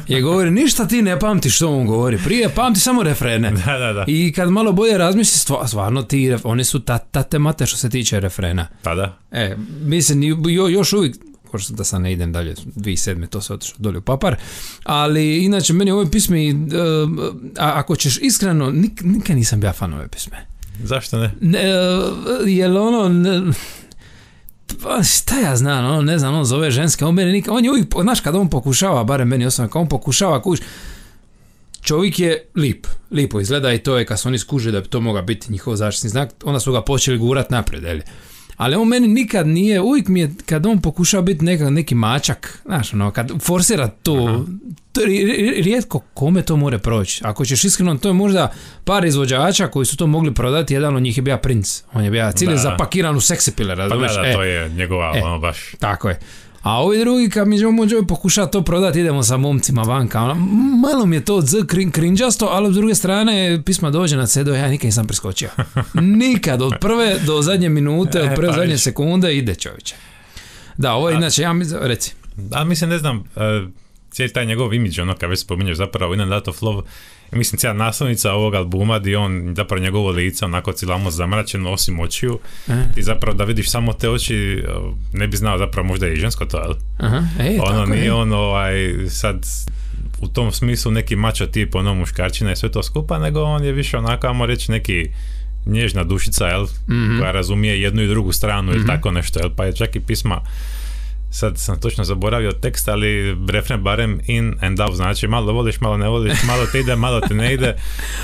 Je govori, ništa ti ne pamtiš što on govori, prije pamti samo refrene. Da, da, da. I kad malo bolje razmisli, stvarno ti, oni su tate mate što se tiče refrena. Pa da. E, mislim, jo, još uvijek, pošto da sam ne idem dalje, dvije tisuće sedme to se otišlo dolje u papar, ali inače meni ove pisme, uh, a, ako ćeš iskreno, nik, nikad nisam bio fan ove pisme. Zašto ne? ne uh, jel ono... Ne, pa šta ja znam, ono, ne znam, on zove ženske, on meni nikad, on je uvijek, znaš, kad on pokušava, barem meni osobno, kad on pokušava, kuš, čovjek je lip, lipo izgleda i to je kad su oni skuže da bi to mogao biti njihov zaštitni znak, onda su ga počeli gurat naprijed, eli. Ali on meni nikad nije, uvijek mi je, kad on pokušava biti neka, neki mačak, znaš, ono, kad forsira to, to je rijetko kome to more proći. Ako ćeš iskreno, to je možda par izvođača koji su to mogli prodati, jedan od njih je bio Prince. On je bio cijeli zapakiran u seksi pile, razumiješ? Pa da, da, e, to je njegova, e, ono baš. Tako je. A ovi drugi, kad mi John Bon Jovi pokuša to prodati, idemo sa momcima vanka. Ono, malo mi je to z krinđasto, ali s druge strane, pisma dođe na C D, ja nikad nisam preskočio. Nikad, od prve do zadnje minute, od prve do zadnje sekunde ide čovječe. Da, ovo je inače, ja mi, reci. A mislim, ne znam, uh, cijeli taj njegov imidž, ono, kad već spominješ zapravo In and Out of Love, mislim, cijela naslovnica ovog albuma gdje on, zapravo njegovo lice, onako cijelamo zamračeno, osim očiju, e. i zapravo da vidiš samo te oči, ne bi znao zapravo možda je i žensko to, ali Aha, ej, ono tako nije je. on ovaj, sad u tom smislu neki mačo tip, ono muškarčina i sve to skupa, nego on je više onako, ajmo reći, neki nježna dušica, jel, mm-hmm. koja razumije jednu i drugu stranu, mm-hmm. ili tako nešto, jel, pa je čak i pisma, sad sam točno zaboravio tekst, ali refren barem in and out, znači malo voliš, malo ne voliš, malo te ide, malo te ne ide,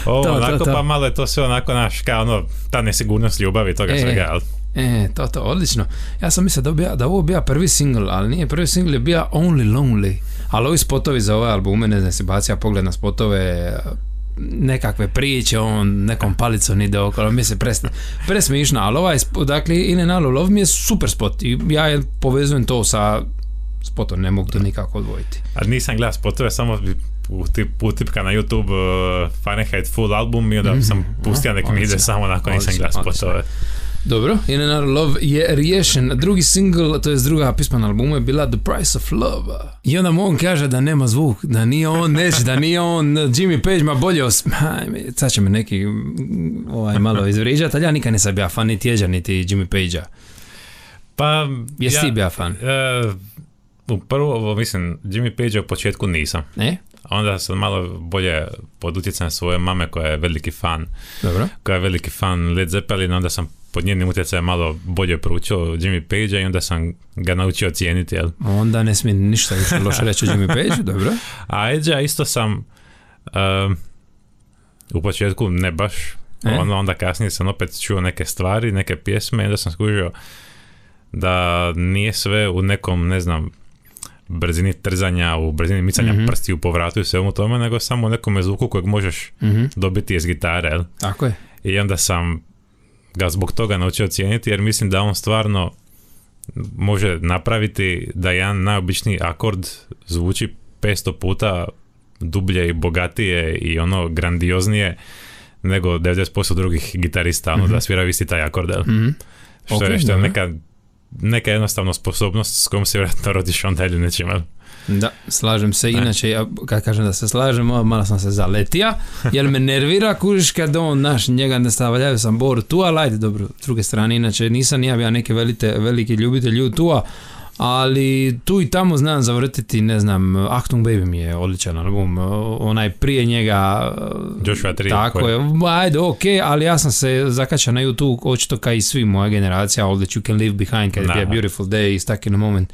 ovo to, onako, to, to. Pa malo je to sve onako, naš, kao ono, ta nesigurnost ljubavi, toga e, svega, ali... E, to, to, odlično. Ja sam mislio da, bija, da ovo bija prvi single, ali nije, prvi single je bija Only Lonely, ali ovi spotovi za ove albume, ne znam, si bacija pogled na spotove, nekakve priče, on nekom palicom ide okolo, mi se presne, presmišno, ali ovaj, dakle, In and Out of Love mi je super spot i ja je povezujem to sa spotom, ne mogu to nikako odvojiti. A nisam gledao spotove, samo utipka na YouTube uh, Fahrenheit full album i onda mm-hmm. sam pustio nek mi ide samo nakon nisam gledao spotove. Dobro, In and Out of Love je riješen. Drugi single, to je druga pisma na albumu, je bila The Price of Love. I onda on kaže da nema zvuk, da nije on neći, da nije on Jimmy Page, ma bolje os... Sad će me neki ovaj, malo izvriđati, ali ja nikad nisam bio fan niti Jeđa, niti Jimmy Page-a. Pa... Jesi ja, ti bio fan? Uh, prvo, mislim, Jimmy Page u početku nisam. Ne? Onda sam malo bolje pod utjecajem svoje mame koja je veliki fan. Dobro. Koja je veliki fan Led Zeppelin, onda sam pod njenim utjecajem malo bolje proučio Jimmy Page-a i onda sam ga naučio cijeniti, jel? Onda ne smijem ništa više loše reći o Jimmy Page, dobro. A Edge-a isto sam um, u početku ne baš, e? ono, onda kasnije sam opet čuo neke stvari, neke pjesme i onda sam skužio da nije sve u nekom, ne znam, brzini trzanja, u brzini micanja mm-hmm. prsti u povratu i svemu tome, nego samo u nekom zvuku kojeg možeš mm-hmm. dobiti iz gitare, jel? Tako je. I onda sam ga zbog toga naučio cijeniti, jer mislim da on stvarno može napraviti da jedan najobičniji akord zvuči petsto puta dublje i bogatije i ono grandioznije nego devedeset posto drugih gitarista, ono mm-hmm. da svira isti taj akord. Mm-hmm. Što okay, je, što je neka, neka jednostavno sposobnost s kojom se vjerojatno rodiš onda ili nečim. Da, slažem se. Inače, ja, kad kažem da se slažem, malo sam se zaletija, jer me nervira, kužiš, kad on, naš, njega ne stavljaju sam Boru tu, ali ajde, dobro, s druge strane, inače, nisam ja bio neki velite, veliki ljubitelj tua, ali tu i tamo znam zavrtiti, ne znam, Achtung Baby mi je odličan album, onaj prije njega, Joshua tri, tako koje. je, ajde, ok, ali ja sam se zakačao na YouTube, očito kao i svi moja generacija, All That You Can Leave Behind, kad je Beautiful Day, Stuck in a Moment,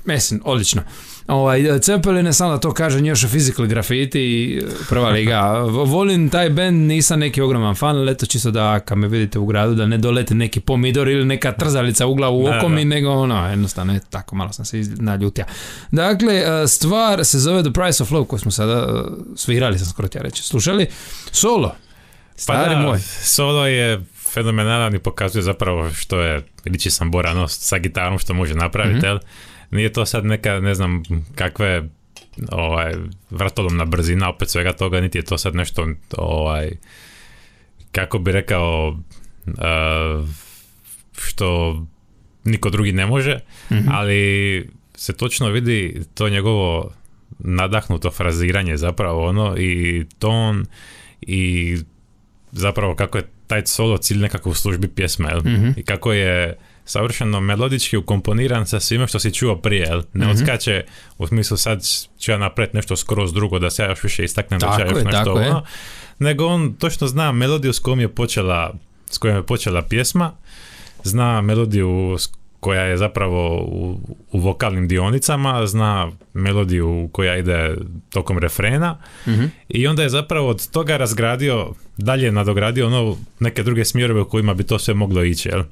mislim, odlično. Ovaj, Zeppelin je samo da to kažem još o Physical Graffiti, prva liga. Volim taj band, nisam neki ogroman fan, ali eto čisto da kad me vidite u gradu da ne dolete neki pomidor ili neka trzalica u glavu u oko mi, nego ono, jednostavno je tako, malo sam se naljutio. Dakle, stvar se zove The Price of Love, koju smo sada svirali, sam skoro tja reći, slušali. Solo, stari pa da, moj. Solo je fenomenalan i pokazuje zapravo što je Richie Sambora sa gitarom, što može napraviti, mm-hmm. jel? Nije to sad neka, ne znam, kakve ovaj, vratolomna brzina opet svega toga, niti je to sad nešto, ovaj, kako bi rekao, uh, što niko drugi ne može, mm-hmm. ali se točno vidi to njegovo nadahnuto fraziranje zapravo, ono, i ton, i zapravo kako je taj solo cilj nekako u službi pjesme, mm-hmm. i kako je savršeno melodički ukomponiran sa svime što si čuo prije, jel? Ne mm-hmm. odskače u smislu sad ću ja napraviti nešto skroz drugo da se ja još više istaknem, da ću ja još nešto ono, nego on točno zna melodiju s kojom je počela s kojom je počela pjesma, zna melodiju koja je zapravo u, u vokalnim dionicama, zna melodiju koja ide tokom refrena, mm-hmm. i onda je zapravo od toga razgradio, dalje nadogradio ono neke druge smjerove u kojima bi to sve moglo ići, jel?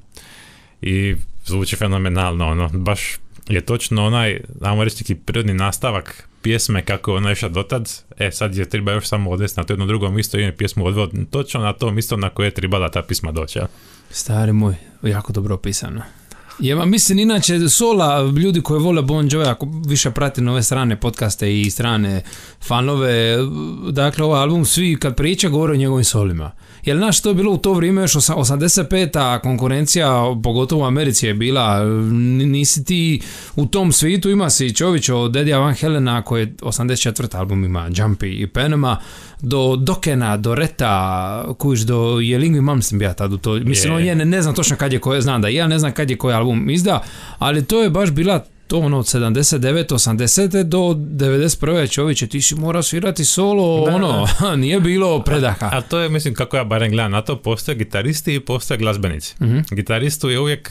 I zvuči fenomenalno, ono, baš je točno onaj, ajmo reći, neki prirodni nastavak pjesme kako je ona išla dotad, e sad je treba još samo odvesti na to jedno drugo mjesto i je pjesmu odveo točno na to mjesto na koje je trebala ta pisma doći. Ja? Stari moj, jako dobro opisano. Ja mislim, inače, sola, ljudi koji vole Bon Jovi, ako više prati nove strane podcaste i strane fanove, dakle, ovaj album, svi kad priča govore o njegovim solima. Jer znaš, to je bilo u to vrijeme još osamdeset peta konkurencija, pogotovo u Americi je bila, nisi ti u tom svijetu, ima si Čović od Dedija Van Helena koji je osamdeset četvrti album ima Jumpy i Panama, do Dokena, do Reta, kuš, do Jelingvi Malmsteen bija tad u to, mislim, yeah. on je, ne, ne znam točno kad je koje, znam da ja ne znam kad je koji album izda, ali to je baš bila to ono od sedamdeset devete osamdesete do devedeset prve Čoviće, ti si morao svirati solo, da, ono, da. Nije bilo predaha. A, a to je, mislim, kako ja barem gledam na to, postoje gitaristi i postoje glazbenici. Mm-hmm. Gitaristu je uvijek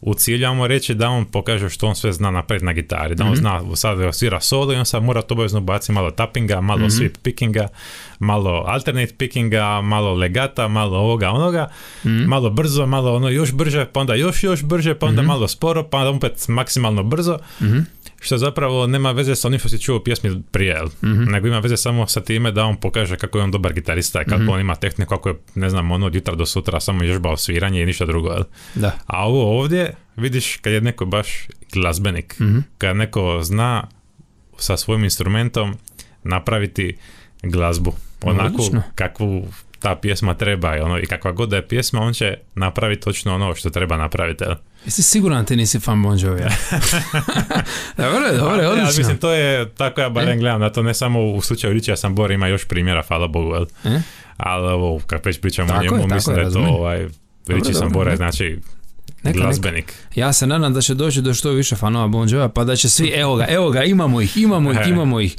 u ciljamo reći da on pokaže što on sve zna napraviti na gitari, da on mm-hmm. zna sad svira solo i on sad mora to obavezno baciti malo tappinga, malo mm-hmm. sweep pickinga, malo alternate pickinga, malo legata, malo ovoga onoga, mm-hmm. malo brzo, malo ono još brže, pa onda još još brže, pa onda mm-hmm. malo sporo, pa onda opet maksimalno brzo, mm-hmm. što zapravo nema veze sa onim što si čuo u pjesmi prije, mm-hmm. nego ima veze samo sa time da on pokaže kako je on dobar gitarista, kako mm-hmm. on ima tehniku, kako je, ne znam, ono od jutra do sutra samo ježbao sviranje i ništa drugo. Da. A ovo ovdje, vidiš, kad je neko baš glazbenik, mm-hmm. kad neko zna sa svojim instrumentom napraviti glazbu, onako Odlično. Kakvu ta pjesma treba i, ono, i kakva god da je pjesma, on će napraviti točno ono što treba napraviti. Jesi siguran ti nisi fan Bon Jovija? Dobre, dobre, odlično. Ja, mislim, to je tako, ja barem e? gledam na to, ne samo u slučaju Richija Sambora, ima još primjera, hvala Bogu, jel? E? Ali ovo, kad već pričamo o njemu, mislim je, da je to ovaj, Richie Sambora je, znači, neka, glazbenik. Neka. Ja se nadam da će doći do što više fanova Bon Jovija, pa da će svi, evo ga, evo ga, imamo ih, imamo ih, imamo ih.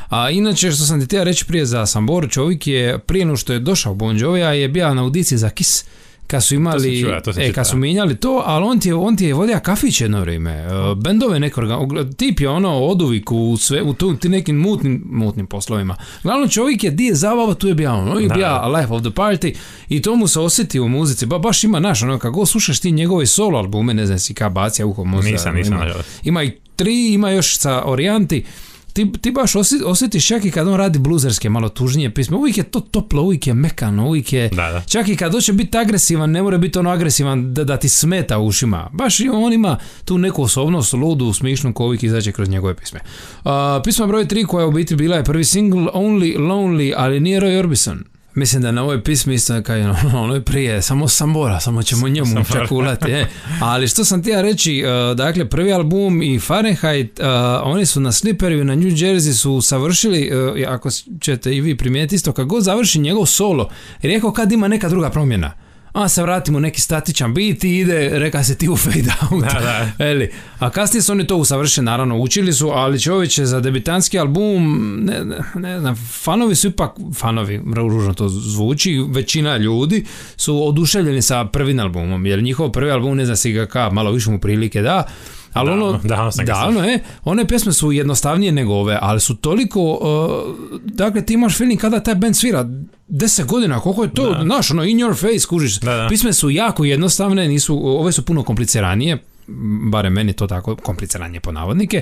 A inače, što sam ti htio reći prije za Samboru, čovjek je, prije no što je došao Bon Jovija, je bio na audiciji za Kiss, kad su imali, čuva, e, kad su mijenjali to, ali on ti je, on ti je vodio kafić jedno vrijeme, uh, bendove neko, tip je ono oduvik u, sve, u tu, ti nekim mutnim, mutnim poslovima. Glavno čovjek je, di je zabava, tu je bija on, on je bija life of the party i to mu se osjeti u muzici, ba, baš ima naš, ono, kako slušaš ti njegove solo albume, ne znam si ka bacija uho možda. Nisam, nisam. Ima, ima i tri, ima još sa Orijanti. Ti, ti baš osjetiš čak i kad on radi bluzerske, malo tužnije pisme, uvijek je to toplo, uvijek je mekano, uvijek je, da, da. Čak i kad hoće biti agresivan, ne mora biti ono agresivan da, da ti smeta u ušima. Baš on ima tu neku osobnost, ludu, smišnu koju uvijek izađe kroz njegove pisme. Uh, pisma broj tri koja je u biti bila je prvi single Only Lonely, ali nije Roy Orbison. Mislim da na ovoj pismi isto kao je ono je prije, samo Sambora, samo ćemo njemu čakulati. E. Ali što sam ti ja reći, uh, dakle prvi album i Fahrenheit, uh, oni su na Slippery na New Jersey su savršili, uh, ako ćete i vi primijetiti isto, kad god završi njegov solo, jer rekao kad ima neka druga promjena. A se vratimo neki statičan beat i ide, reka se ti u fade out. Da, da. Eli, a kasnije su oni to usavršili, naravno učili su, ali čovječe za debitanski album, ne, ne, ne znam, fanovi su ipak, fanovi, ružno to zvuči, većina ljudi su oduševljeni sa prvim albumom, jer njihov prvi album, ne znam si ga ka, malo više mu prilike da, ali da, ono, da, da, ono je, one pjesme su jednostavnije nego ove, ali su toliko, uh, dakle ti imaš feeling kada taj band svira deset godina, koliko je to, znaš, ono, in your face, kužiš, da, da. Pisme su jako jednostavne, nisu, ove su puno kompliciranije, barem meni to tako, kompliciranje po navodnike,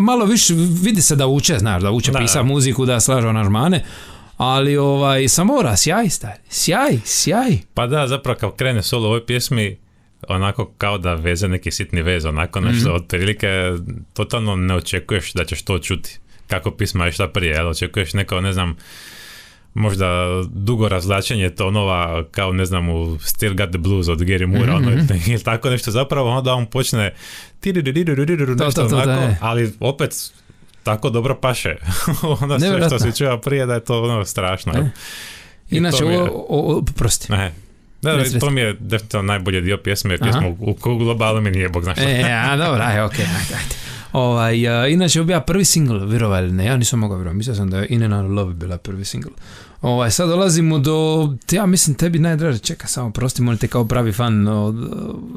malo više vidi se da uče, znaš, da uče pisa muziku, da slažu aranžmane, ali ovaj, Sambora, sjaj, stari, sjaj, sjaj. Pa da, zapravo kao krene solo u ovoj pjesmi, onako kao da veze neki sitni vez, onako nešto, mm-hmm. otprilike totalno ne očekuješ da ćeš to čuti, kako pisma je šta prije, jel? Očekuješ neko, ne znam, možda dugo razlačenje tonova, kao ne znam u Still Got the Blues od Gary Moore, mm-hmm. ono, ili tako nešto, zapravo onda on počne nešto onako, ali opet tako dobro paše. Onda sve što si čuo prije da je to ono strašno. E. Inače, je, o, o, prosti. Ne. Da, da, to mi je definitivno najbolji dio pjesme, jer pjesma u, u globalu mi nije bog zna što. E, a dobro, aj, okej, okay, ajde, ajde. Ovaj, uh, inače, bio prvi single, vjerovali ne, ja nisam mogao vjerovati, mislio sam da je In and Out of Love bila prvi single. Ovaj, sad dolazimo do, ja mislim tebi najdraže, čeka samo, prosti, molim te kao pravi fan, no,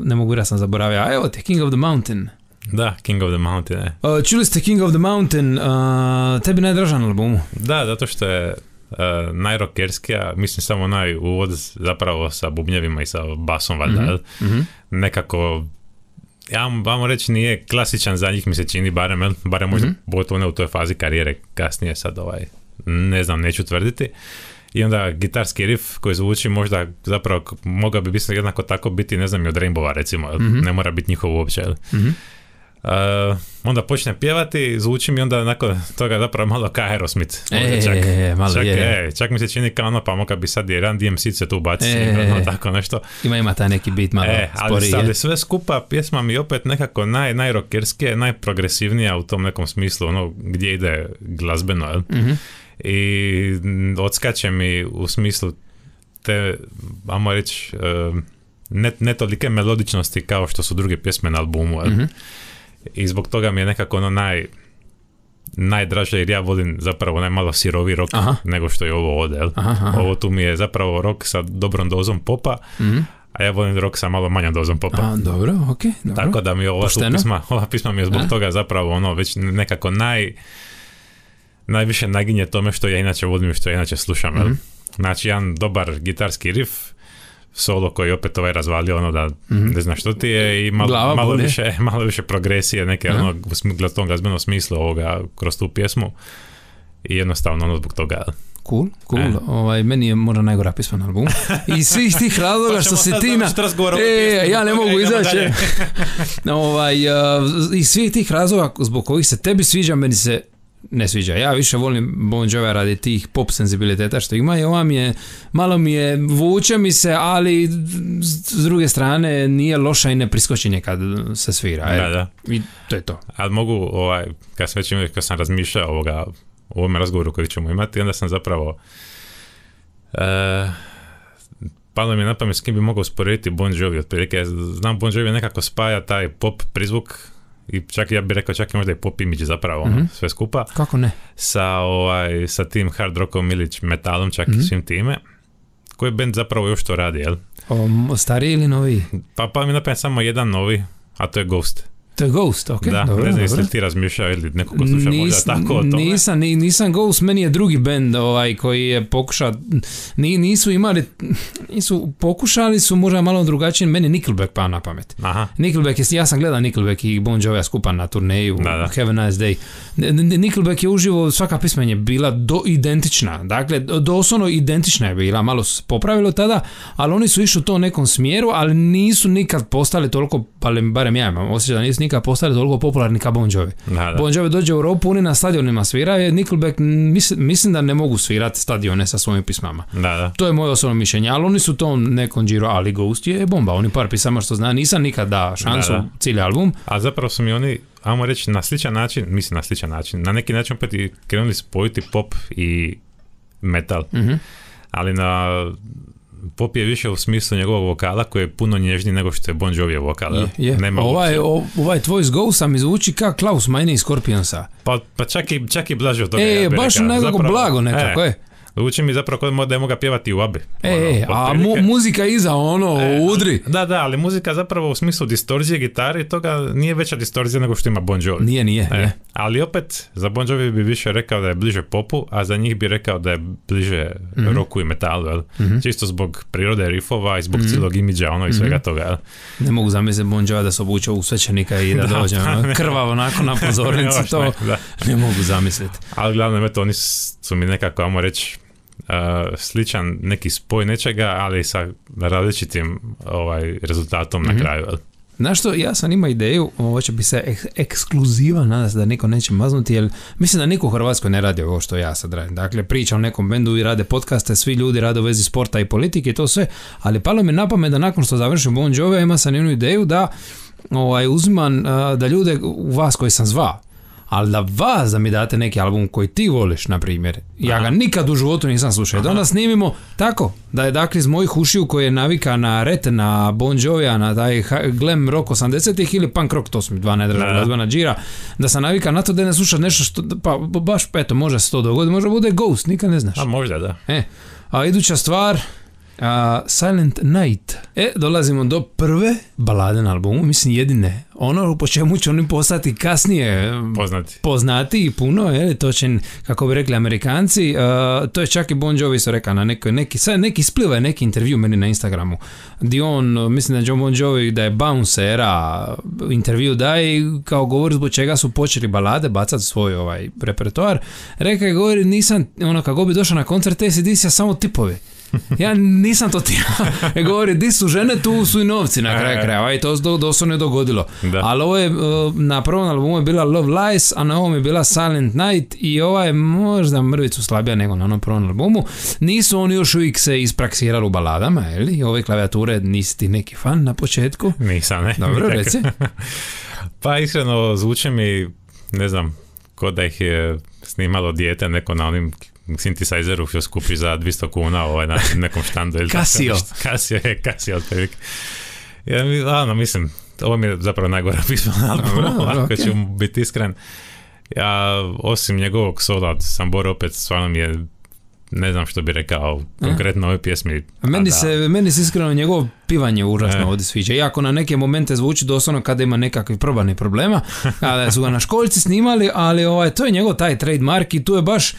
ne mogu da sam zaboravio, a evo te, King of the Mountain. Da, King of the Mountain, ne. Uh, čuli ste King of the Mountain, uh, tebi najdražan albumu? Da, zato što je Uh, najrockerskija, mislim samo onaj uvod zapravo sa bubnjevima i sa basom valjda, mm-hmm. nekako ja vam reći nije klasičan za njih mi se čini, barem, barem možda mm-hmm. pogotovo ne u toj fazi karijere, kasnije sad ovaj, ne znam, neću tvrditi. I onda gitarski riff koji zvuči možda zapravo mogao bi biti jednako tako biti, ne znam, i od Rainbowa recimo, mm-hmm. ne mora biti njihov uopće. Mm-hmm. Uh, onda počne pjevati, zvuči mi onda nakon toga zapravo malo kao Aerosmith. E, čak, e, malo čak, je. E, čak mi se čini kao ono, pa moga bi sad i Run D M C se tu baci, e, ono, tako nešto. Ima ima taj neki beat malo e, sporije. Ali, ali sve skupa pjesma mi opet nekako naj, najrockerskije, najprogresivnija u tom nekom smislu, ono gdje ide glazbeno, jel? Mm-hmm. I odskače mi u smislu te, ajmo reći, uh, ne, ne tolike melodičnosti kao što su druge pjesme na albumu, jel? Mm-hmm. I zbog toga mi je nekako ono naj najdraže, jer ja volim zapravo onaj malo sirovi rock aha. nego što je ovo ovdje. Aha, aha. Ovo tu mi je zapravo rock sa dobrom dozom popa, mm-hmm. a ja volim rock sa malo manjom dozom popa. A, dobro, ok. Dobro. Tako da mi ova pisma, ova pisma mi je zbog a? toga zapravo ono već nekako naj najviše naginje tome što ja inače volim i što ja inače slušam. Mm-hmm. Znači, jedan dobar gitarski riff, solo koji opet ovaj razvalio ono da mm-hmm. ne zna što ti je i malo, malo, više, malo više progresije neke ono, u tom glazbenom smislu ovoga kroz tu pjesmu i jednostavno ono zbog toga. Cool, cool. E. Ovaj, meni je možda najgora pisma na albumu. I svih tih razloga što si ti na... E, ja ne mogu izaći. ovaj, uh, I svih tih razloga zbog kojih se tebi sviđa, meni se ne sviđa. Ja više volim Bon Jovi radi tih pop senzibiliteta što ima i ova mi je, malo mi je, vuče mi se, ali s druge strane nije loša i ne priskoči kad se svira. Da, da. I to je to. Ali mogu, ovaj, kad sam, već, kad sam razmišljao ovoga, u ovom razgovoru koji ćemo imati, onda sam zapravo uh, palo mi je na pamet s kim bi mogao usporediti Bon Jovi. Otprilike, znam Bon Jovi nekako spaja taj pop prizvuk i čak ja bih rekao čak i možda i pop imidž zapravo mm-hmm. ono, sve skupa. Kako ne? Sa, ovaj, sa tim hard rockom ili metalom čak mm-hmm. i svim time koji band zapravo još to radi, jel? O, stariji ili novi? Pa, pa mi napamet samo jedan novi, a to je Ghost. To je Ghost, ok. Da, dobro, ne znam dobro. jesi ti razmišljao ili neko ko sluša možda tako o tome. Nisam, nisam Ghost, meni je drugi band ovaj, koji je pokušao, nisu imali, nisu, pokušali su možda malo drugačije, meni Nickelback pa na pamet. Aha. Nickelback, ja sam gledao Nickelback i Bon Jovi skupa na turneju, da, da. Have a Nice Day. Nickelback je uživo, svaka pisma je bila do identična, dakle, doslovno identična je bila, malo se popravilo tada, ali oni su išli u to nekom smjeru, ali nisu nikad postali toliko, barem ja imam osjećaj da nisu nikad postali toliko popularni kao Bon Jovi. Da, da. Bon Jovi dođe u Europu, oni na stadionima sviraju, Nickelback mislim, mislim da ne mogu svirati stadione sa svojim pismama. Da, da. To je moje osobno mišljenje, ali oni su to nekom Giro, ali Ghost je bomba, oni par pisama što zna, nisam nikad da šansu da, da. cijeli album. A zapravo su mi oni, ajmo reći, na sličan način, mislim na sličan način, na neki način opet i krenuli spojiti pop i metal, Mm-hmm. ali na pop je više u smislu njegovog vokala koji je puno nježniji nego što je Bon Jovijev vokal. Je, je. Nema ovaj, o, ovaj tvoj s Ghosta mi zvuči kao Klaus Meine iz Scorpionsa. Pa, pa čak, i, čak i blaže od toga. E, ja baš rekao. nekako Zapravo, blago nekako, e, je. Zvuči mi zapravo kod da je moga pjevati u Abi. E, e a mu, muzika iza ono, e, udri. Da, da, ali muzika zapravo u smislu distorzije gitare i toga nije veća distorzija nego što ima Bon Jovi. Nije, nije, e, nije. Ali opet, za Bon Jovi bi više rekao da je bliže popu, a za njih bi rekao da je bliže mm-hmm. rocku i metalu, jel? Mm-hmm. Čisto zbog prirode riffova i zbog mm-hmm. cijelog imidža, ono i svega mm-hmm. toga, jel? Ne mogu zamisliti Bon Jovi da se obuče u svećenika i da, da dođe ono, krvavo onako na pozornici, to ne, ne mogu zamisliti. Ali glavno, eto, oni su mi nekako, ajmo reći, Uh, sličan neki spoj nečega, ali sa različitim ovaj, rezultatom mm-hmm. na kraju. Znaš što, ja sam imao ideju, ovo će bi se ek- ekskluziva, nadam se da niko neće maznuti, jer mislim da niko u Hrvatskoj ne radi ovo što ja sad radim. Dakle, priča o nekom bendu i rade podcaste, svi ljudi rade u vezi sporta i politike i to sve, ali palo mi na pamet da nakon što završim Bon Jovi, ima sam jednu ideju da ovaj, uzimam uh, da ljude u vas koji sam zvao, ali da vas da mi date neki album koji ti voliš, na primjer. Ja Aha. ga nikad u životu nisam slušao. Da onda snimimo tako, da je dakle iz mojih ušiju koji je navika na Ret, na Bon Jovija, na taj glam rock osamdesetih ili punk rock, to su mi dva najdraža glazbena džira, da sam navika na to da ne slušam nešto što, pa baš eto, može se to dogoditi, može bude Ghost, nikad ne znaš. A možda, da. E, a iduća stvar, Uh, Silent Night. E, dolazimo do prve balade na albumu, mislim jedine. Ono po čemu će oni postati kasnije poznati, poznati i puno, je, to će, kako bi rekli Amerikanci, uh, to je čak i Bon Jovi su rekao na neki, neki, sad neki spliva je neki intervju meni na Instagramu, gdje on, mislim da je John Bon Jovi, da je Bounce era, intervju daje kao govori zbog čega su počeli balade bacati svoj ovaj repertoar. Rekao je, govori, nisam, ono, kako bi došao na koncert A C D C-a samo tipovi. Ja nisam to ti ja. Govori, di su žene, tu su i novci na kraju krajeva i to se doslovno je dogodilo. Da. Ali ovo je, na prvom albumu je bila Love Lies, a na ovom je bila Silent Night i ova je možda mrvicu slabija nego na onom prvom albumu. Nisu oni još uvijek se ispraksirali u baladama, jel? Ove klavijature nisi ti neki fan na početku? Nisam, ne. Dobro, reci. Pa iskreno zvuče mi, ne znam, ko da ih je snimalo dijete neko na onim synthesizeru što skupi za dvjesto kuna ovaj, na nekom štandu. Casio. Casio je, Casio otprilike. Ja, ano, mislim, ovo mi je zapravo najgora pisma na albumu, ako ću biti iskren. Ja, osim njegovog sola, Sambora opet stvarno mi je, ne znam što bi rekao konkretno ovoj pjesmi. Meni se, meni se iskreno njegovo pivanje užasno e. ovdje sviđa. Iako na neke momente zvuči doslovno kada ima nekakvih probanih problema, kada su ga na školjci snimali, ali ovaj, to je njegov taj trademark i tu je baš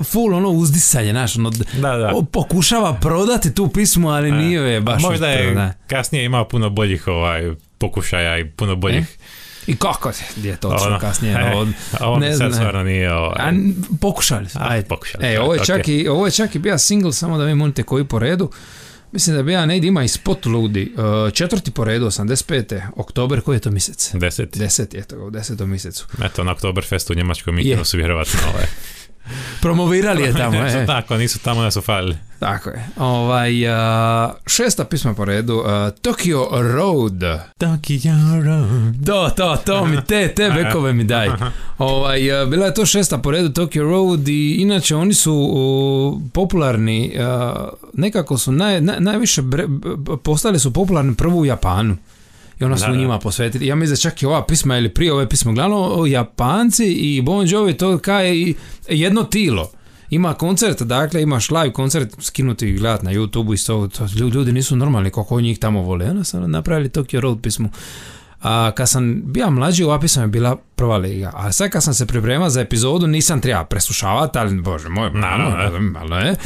full ono uzdisanje, znaš, ono, da, da. pokušava prodati tu pismu, ali e. nije je baš. A možda je da. kasnije imao puno boljih ovaj, pokušaja i puno boljih e? I kako je to ono, kasnije? E, od, ovo ne sad stvarno nije... Ovaj... A, pokušali su. Ajde, pokušali. E, ovo je, čak okay. i, ovo je čak i bio single, samo da vi monite koji po redu. Mislim da bi ja negdje ima i Spot Ludi. Uh, četvrti po redu, osamdeset pete oktober, koji je to mjesec? Deseti. Deseti, eto ga, u desetom mjesecu. Eto, na Oktoberfestu u Njemačkoj mi su vjerovatno ovaj... Promovirali je tamo, e. Tako, nisu tamo, da su falili. Tako je. Ovaj, uh, šesta pisma po redu, uh, Tokyo Road. Tokyo Road. To, to, to mi, te, te bekove mi daj. Ovaj, uh, bila je to šesta po redu, Tokyo Road, i inače oni su uh, popularni, uh, nekako su naj, naj, najviše bre, postali su popularni prvo u Japanu. I ona su da, njima posvetili. Ja mislim da čak i ova pisma ili prije ove pisma, glavno Japanci i Bon Jovi to kao je jedno tilo. Ima koncert, dakle imaš live koncert skinuti i gledat na YouTube i to, to ljudi nisu normalni kako njih tamo vole. Ono sam napravili Tokyo Road pismu. A kad sam bio mlađi, ova pisma je bila prva liga. A sad kad sam se pripremao za epizodu, nisam treba preslušavati, ali bože moj, malo, malo je.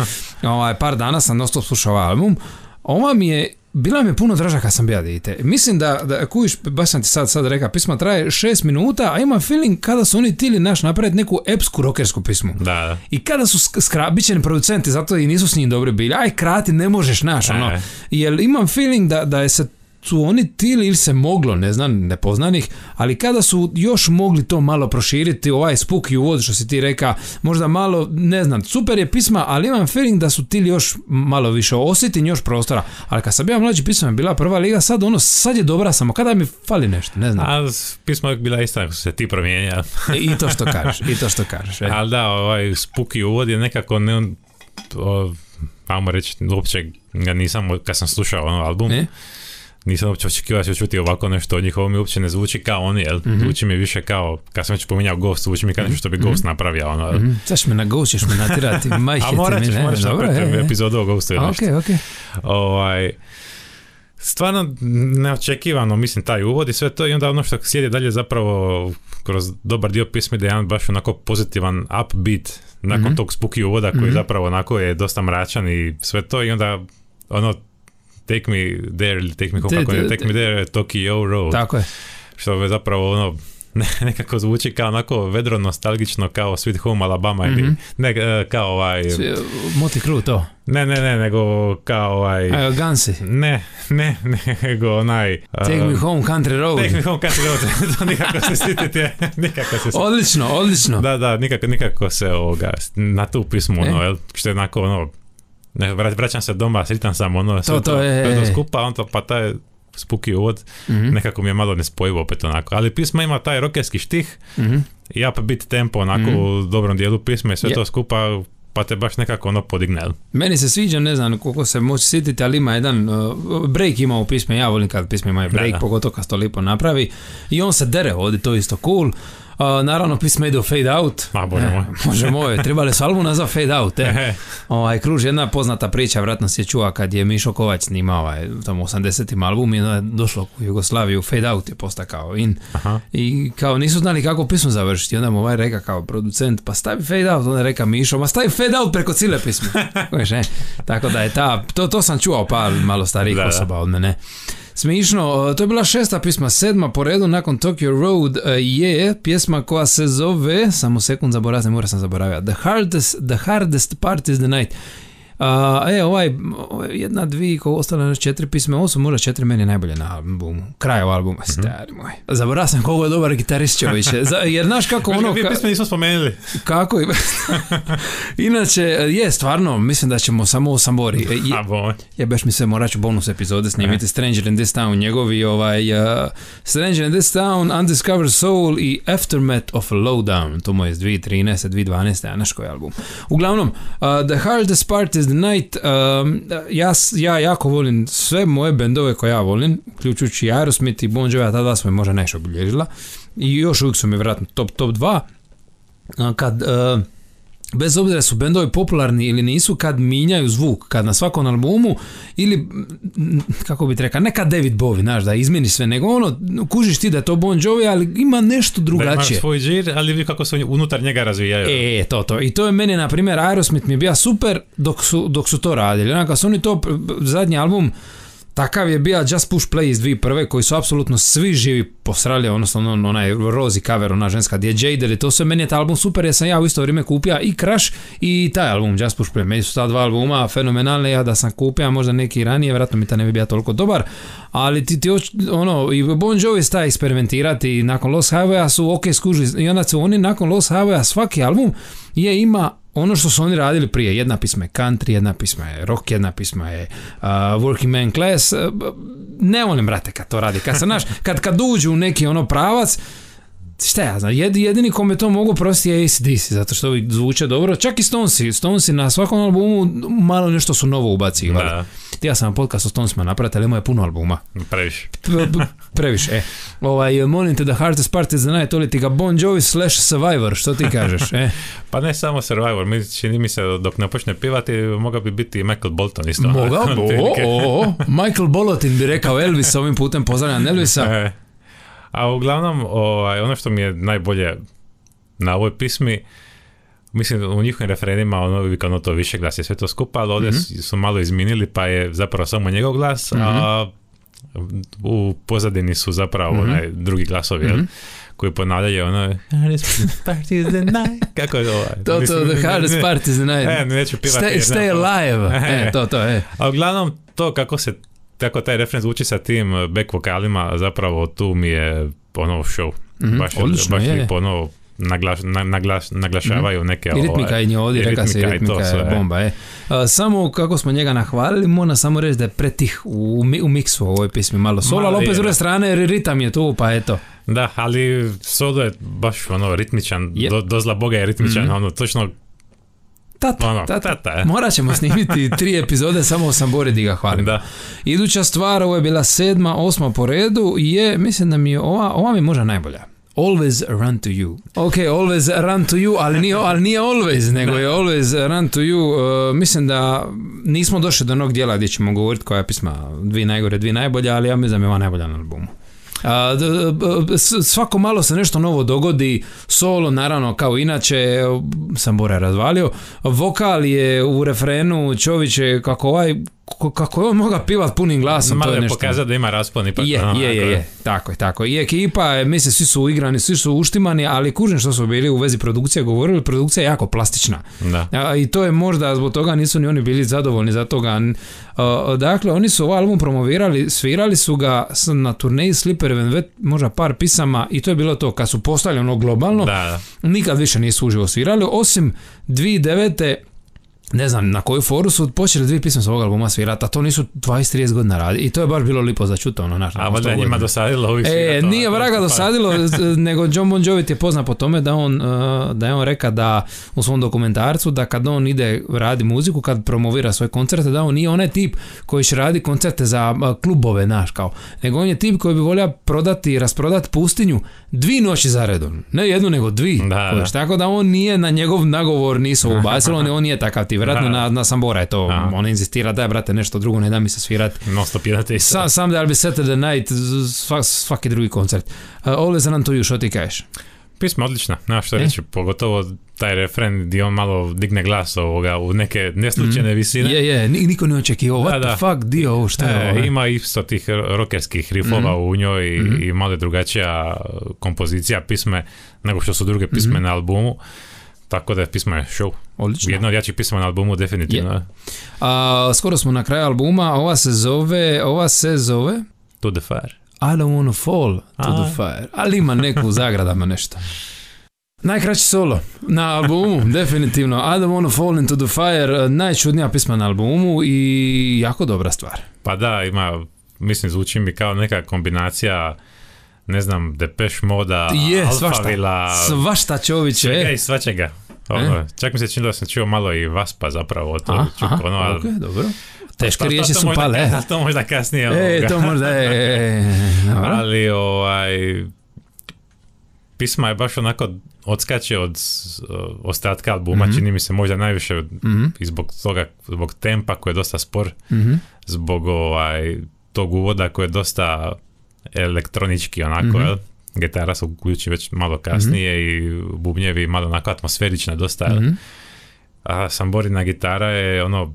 Ovaj, par dana sam dosta slušao album. Ova mi je, bila mi je puno draža kad sam bio dite. Mislim da, da kujiš, baš sam ti sad, sad rekao, pisma traje šest minuta, a ima feeling kada su oni tili naš napraviti neku epsku rockersku pismu. Da, da. I kada su skrabićeni producenti, zato i nisu s njim dobri bili, aj krati, ne možeš naš, ono. Jer imam feeling da, da je se su oni tili ili se moglo, ne znam, nepoznanih, ali kada su još mogli to malo proširiti, ovaj spooky uvod što si ti reka, možda malo, ne znam, super je pisma, ali imam feeling da su tili još malo više osjeti još prostora, ali kad sam bio mlađi, pisma je bila prva liga, sad ono, sad je dobra samo, kada mi fali nešto, ne znam. A pisma je bila ista ako su se ti promijenjali. I to što kažeš, i to što kažeš. E. Ali da, ovaj spooky uvod je nekako, ne, o, ajmo reći, uopće ga nisam, kad sam slušao ono album, e? Nisam uopće očekivao da ću čuti ovako nešto od njih, ovo mi uopće ne zvuči kao oni, jel? Mm-hmm. Zvuči mi više kao, kad sam već pominjao Ghost, zvuči mi kao nešto što bi Ghost napravio, ono, jel? Mm-hmm. Saš me na Ghost, ćeš me natirati, majhete mi, ne? A morat ćeš, moraš napraviti epizodu o Ghostu ili nešto. Ok, ok. Ovaj, stvarno neočekivano, mislim, taj uvod i sve to, i onda ono što slijedi dalje zapravo kroz dobar dio pismi da je jedan baš onako pozitivan upbeat nakon mm-hmm. tog spooky uvoda koji mm-hmm. zapravo onako je dosta mračan i sve to, i onda ono Take me there ili take me home, kako ne, take me there, Tokyo Road. Tako je. Što je zapravo ono, ne, nekako zvuči kao onako vedro nostalgično kao Sweet Home Alabama mm-hmm. ili ne, kao ovaj... Motley Crue to. Ne, ne, ne, nego kao ovaj... Ajo, Gansi. Ne, ne, nego onaj... Take uh, me home country road. Take me home country road, to nikako se sitite, nikako se sitite. Odlično, odlično. Da, da, nikako, nikako se ovoga, na tu pismu, ono, jel, što je onako ono... Ne, vraćam se doma, sritam sam ono, sve to, to, je, to skupa, on to, pa taj spooky uvod, mm-hmm. nekako mi je malo nespojivo opet onako, ali pisma ima taj rockerski štih, mm-hmm. i upbeat tempo onako mm-hmm. u dobrom dijelu pisma i sve yeah. to skupa, pa te baš nekako ono podigne. Meni se sviđa, ne znam koliko se moći sjetiti, ali ima jedan uh, break ima u pisme, ja volim kad pisme imaju break, da, da. Pogotovo kad to lipo napravi, i on se dere ovdje, to je isto cool. Uh, naravno, pisma ide u fade out. A, bože moj. Može moj, trebali su album nazva fade out. E. ovaj, kruži jedna poznata priča, vratno se čuva kad je Mišo Kovač snimao ovaj, tamo osamdesetim album i je došlo u Jugoslaviju, fade out je postakao in. Aha. I kao nisu znali kako pismu završiti. Onda mu ovaj reka kao producent, pa stavi fade out. Onda reka Mišo, ma stavi fade out preko cijele pisme. Tako da je ta, to, to sam čuo par malo starijih da, osoba od mene. Smišno, to je bila šesta pisma, sedma po redu nakon Tokyo Road je pjesma koja se zove, samo sekund zaboravim, mora sam zaboravio, The Hardest, the hardest Part is the Night. Uh, e, ovaj, jedna, dvije, ko ostale četiri pisme, ovo su možda četiri meni najbolje na albumu, kraj ovog albuma, mm-hmm. stari moj. Zaboravio sam koliko je dobar gitarist čovječ, jer znaš kako ono... Dvije pisme nismo spomenuli. Kako? Inače, je, stvarno, mislim da ćemo samo o Sambori. Je, jebeš mi se, morat ću bonus epizode snimiti, Stranger in this Town, njegovi ovaj, uh, Stranger in this Town, Undiscovered Soul i Aftermath of a Lowdown, to mu je iz dvije tisuće trinaeste dvije tisuće dvanaeste, a naš koji album. Uglavnom, uh, The Hardest Part is the Night, um, ja, ja jako volim sve moje bendove koje ja volim, uključujući Aerosmith i Bon Jovi, a tada smo je možda nešto obilježila i još uvijek su mi vjerojatno top, top dva. Kad, uh, bez obzira su bendovi popularni ili nisu, kad minjaju zvuk, kad na svakom albumu ili, kako bi ti rekao, ne kad David Bowie, znaš, da izmeni sve, nego ono, kužiš ti da je to Bon Jovi, ali ima nešto drugačije. Da ima svoj džir, ali vidi kako se unutar njega razvijaju. E, to, to. I to je meni, na primjer, Aerosmith mi je bio super dok su, dok su to radili. Onaka, su oni to, zadnji album, takav je bio Just Push Play iz dvije tisuće prve koji su apsolutno svi živi posrali, odnosno on, onaj Rosie cover, ona ženska gdje je Jade, to sve, meni je taj album super, jer sam ja u isto vrijeme kupio i Crash i taj album Just Push Play. Meni su ta dva albuma fenomenalne, ja da sam kupio možda neki ranije, vjerojatno mi ta ne bi bio toliko dobar, ali ti, ti ono, i Bon Jovi sta eksperimentirati i nakon Lost Highwaya su ok skužili i onda su oni nakon Lost Highwaya svaki album je ima ono što su oni radili prije. Jedna pisma je country, jedna pisma je rock, jedna pisma je uh, working man class. Uh, ne volim, brate, kad to radi. Kad se, naš, kad, kad uđu u neki ono pravac, šta ja znam, jed, jedini kome to mogu prosti je A C D C, zato što ovi zvuče dobro, čak i Stonesi, Stonesi na svakom albumu malo nešto su novo ubacili. Ja sam podcast o Stonesima napraviti, ali imao puno albuma. Previše. Previše, e. Ovaj, molim te, The Hardest Part is the Night, oli ti ga Bon Jovi slash Survivor, što ti kažeš, e? Pa ne samo Survivor, mi, čini mi se dok ne počne pivati, mogao bi biti Michael Bolton isto. Mogao bi, o, o, Michael Bolotin bi rekao Elvis, ovim putem pozdravljam Elvisa. E. A uglavnom, ovaj, ono što mi je najbolje na ovoj pismi, mislim u njihovim refrenima ono, ono to više glas je sve to skupa, ali ovdje mm-hmm. su malo izminili pa je zapravo samo njegov glas, mm-hmm. a u pozadini su zapravo mm-hmm. onaj drugi glasovi, mm-hmm. koji ponavljaju ono hardest part is the night. Kako je ovo? To, to, the hardest part is the night. E, neću pivati. Stay, stay alive. E, to, to, e. A uglavnom to kako se tako taj refren zvuči sa tim back vokalima, zapravo tu mi je ono show. Mm-hmm. Baš, odlično, baš je. lijepo ono naglaš, naglaš, naglašavaju neke... I ritmika je nje ovdje, reka se, ritmika je bomba. E. A, samo kako smo njega nahvalili, moram samo reći da je pretih u, u miksu u ovoj pismi malo solo, ali opet s druge strane ritam je tu, pa eto. Da, ali solo je baš ono ritmičan, yep. do, dozla Boga je ritmičan, mm-hmm. ono točno... Tata, ono, tata. tata morat ćemo snimiti tri epizode samo o Sambori di ga hvalim. Da. Iduća stvar, ovo je bila sedma, osma po redu, je, mislim da mi je ova, ova mi možda najbolja. Always run to you. Ok, always run to you, ali nije, ali nije always, nego je always run to you. Uh, mislim da nismo došli do onog dijela gdje ćemo govoriti koja je pisma dvije najgore, dvije najbolja, ali ja mislim da je ova najbolja na albumu. A, d, d, svako malo se nešto novo dogodi, solo naravno kao inače, Sambora je razvalio, vokal je u refrenu, Čović je kako ovaj kako je on moga pivat punim glasom, malo to je, je nešto. pokazati da ima raspon ipak. Je, no, je, je, je, tako je, tako. I ekipa, mislim, svi su uigrani, svi su uštimani, ali kužim što su bili u vezi produkcije govorili, produkcija je jako plastična. Da. A, i to je možda, zbog toga nisu ni oni bili zadovoljni za toga. A, dakle, oni su ovaj album promovirali, svirali su ga na turneji Slippery When Wet, možda par pisama, i to je bilo to, kad su postali ono globalno, da, da. nikad više nisu uživo svirali, osim dvije tisuće devete ne znam na koju foru su počeli dvije pisme s ovog albuma svirati, a to nisu dvadeset trideset godina radi. I to je baš bilo lipo za čuto. Ono, naš, a valjda njima dosadilo ovih svirata. E, nije vraga dosadilo, nego John Bon Jovi je poznat po tome da on, da je on reka da u svom dokumentarcu da kad on ide radi muziku, kad promovira svoje koncerte, da on nije onaj tip koji će radi koncerte za klubove, naš, kao. Nego on je tip koji bi volio prodati i rasprodati pustinju dvi noći za redom. Ne jednu, nego dvi. Da, da. Tako da on nije na njegov nagovor nisu ubacilo, on, on nije takav tip. Vjerojatno na, na Sambora je to, aha. On inzistira da je, brate, nešto drugo, ne da mi se svirati. No, stop jedate isto. Sam, sam da bi Saturday Night, svak, svaki drugi koncert. Uh, Always run to you, što ti kažeš? Pisma odlična, nema što reći, pogotovo taj refren gdje on malo digne glas ovoga u neke neslučajne mm. visine. Je, je, niko ne očekivao, what da, the fuck, dio ovo, šta je ovo? E, ima isto tih rockerskih riffova mm. u njoj i, mm. i malo drugačija kompozicija pisme nego što su druge pisme mm. na albumu. Tako da je pisma je show. Odlično. Jedno od jačih pisma na albumu, definitivno. Yeah. A, skoro smo na kraju albuma, ova se zove, ova se zove... To the fire. I don't wanna fall to A. the fire. Ali ima neku u zagradama nešto. Najkraći solo na albumu, definitivno. I don't wanna fall into the fire, najčudnija pisma na albumu i jako dobra stvar. Pa da, ima, mislim, zvuči mi kao neka kombinacija, ne znam, Depeche Moda, je, Alphavilla, svašta Čović, svega i svačega. Ono, e? Čak mi se činilo da sam čuo malo i Vaspa zapravo. To, aha, čuk, aha, ono, ali, ok, dobro. Teške riječi su možda, pale. To možda kasnije. E, ovoga. to možda je. Ali ovaj, pisma je baš onako odskače od uh, ostatka albuma, mm-hmm. čini mi se možda najviše mm-hmm. i zbog toga, zbog tempa koji je dosta spor, mm-hmm. zbog ovaj, tog uvoda koji je dosta elektronički onako, mm-hmm. jel? Gitara se uključi već malo kasnije mm-hmm. i bubnjevi malo onako atmosferična dosta, mm-hmm. a Samborina gitara je ono,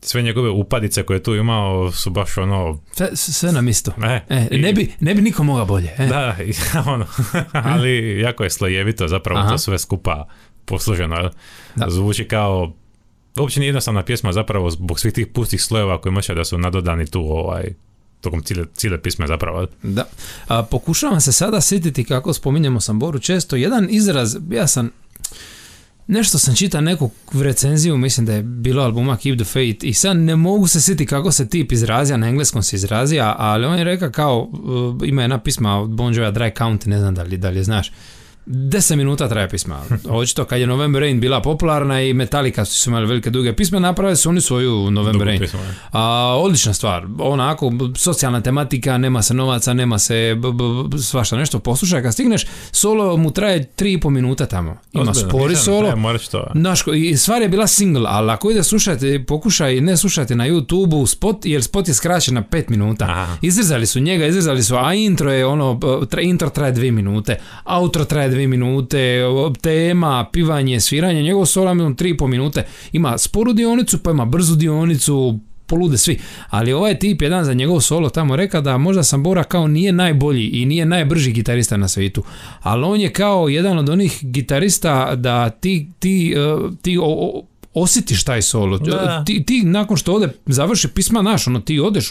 sve njegove upadice koje je tu imao su baš ono... Sve, sve nam isto. E, e, i, ne, bi, ne bi niko mogao bolje. E. Da, i, ono, ali jako je slojevito zapravo. Aha. To sve skupa posluženo. Zvuči kao... Uopće nije jednostavna pjesma zapravo zbog svih tih pustih slojeva koji može da su nadodani tu ovaj... tokom cijele, cijele pisme zapravo. Da. A, pokušavam se sada sjetiti kako spominjemo Samboru često. Jedan izraz, ja sam nešto sam čitao neku recenziju, mislim da je bilo albuma Keep the Faith i sad ne mogu se sjetiti kako se tip izrazija, na engleskom se izrazija, ali on je rekao kao, uh, ima jedna pisma od Bon Jovija Dry County, ne znam da li, da li je znaš. deset minuta traje pisma. Očito kad je November Rain bila popularna i Metallica su imali velike duge pisme, napravili su oni svoju November Rain. A, odlična stvar, onako, socijalna tematika, nema se novaca, nema se b- b- svašta nešto, poslušaj, kad stigneš, solo mu traje tri i pol minuta tamo. Ima spori solo. Naš, i stvar je bila single, ali ako ide slušati, pokušaj ne slušati na YouTube spot, jer spot je skraćen na pet minuta. Aha. Izrezali su njega, izrezali su, a intro je ono, tra, intro traje dvije minute, outro traje dvije minute, tema, pivanje, sviranje, njegov solo ima tri i pol minute, ima sporu dionicu, pa ima brzu dionicu, polude svi, ali ovaj tip jedan za njegov solo tamo reka da možda Sambora kao nije najbolji i nije najbrži gitarista na svijetu, ali on je kao jedan od onih gitarista da ti, ti, ti o, o, osjetiš taj solo. Ti, ti nakon što ode završi pisma, naš, ono, ti odeš,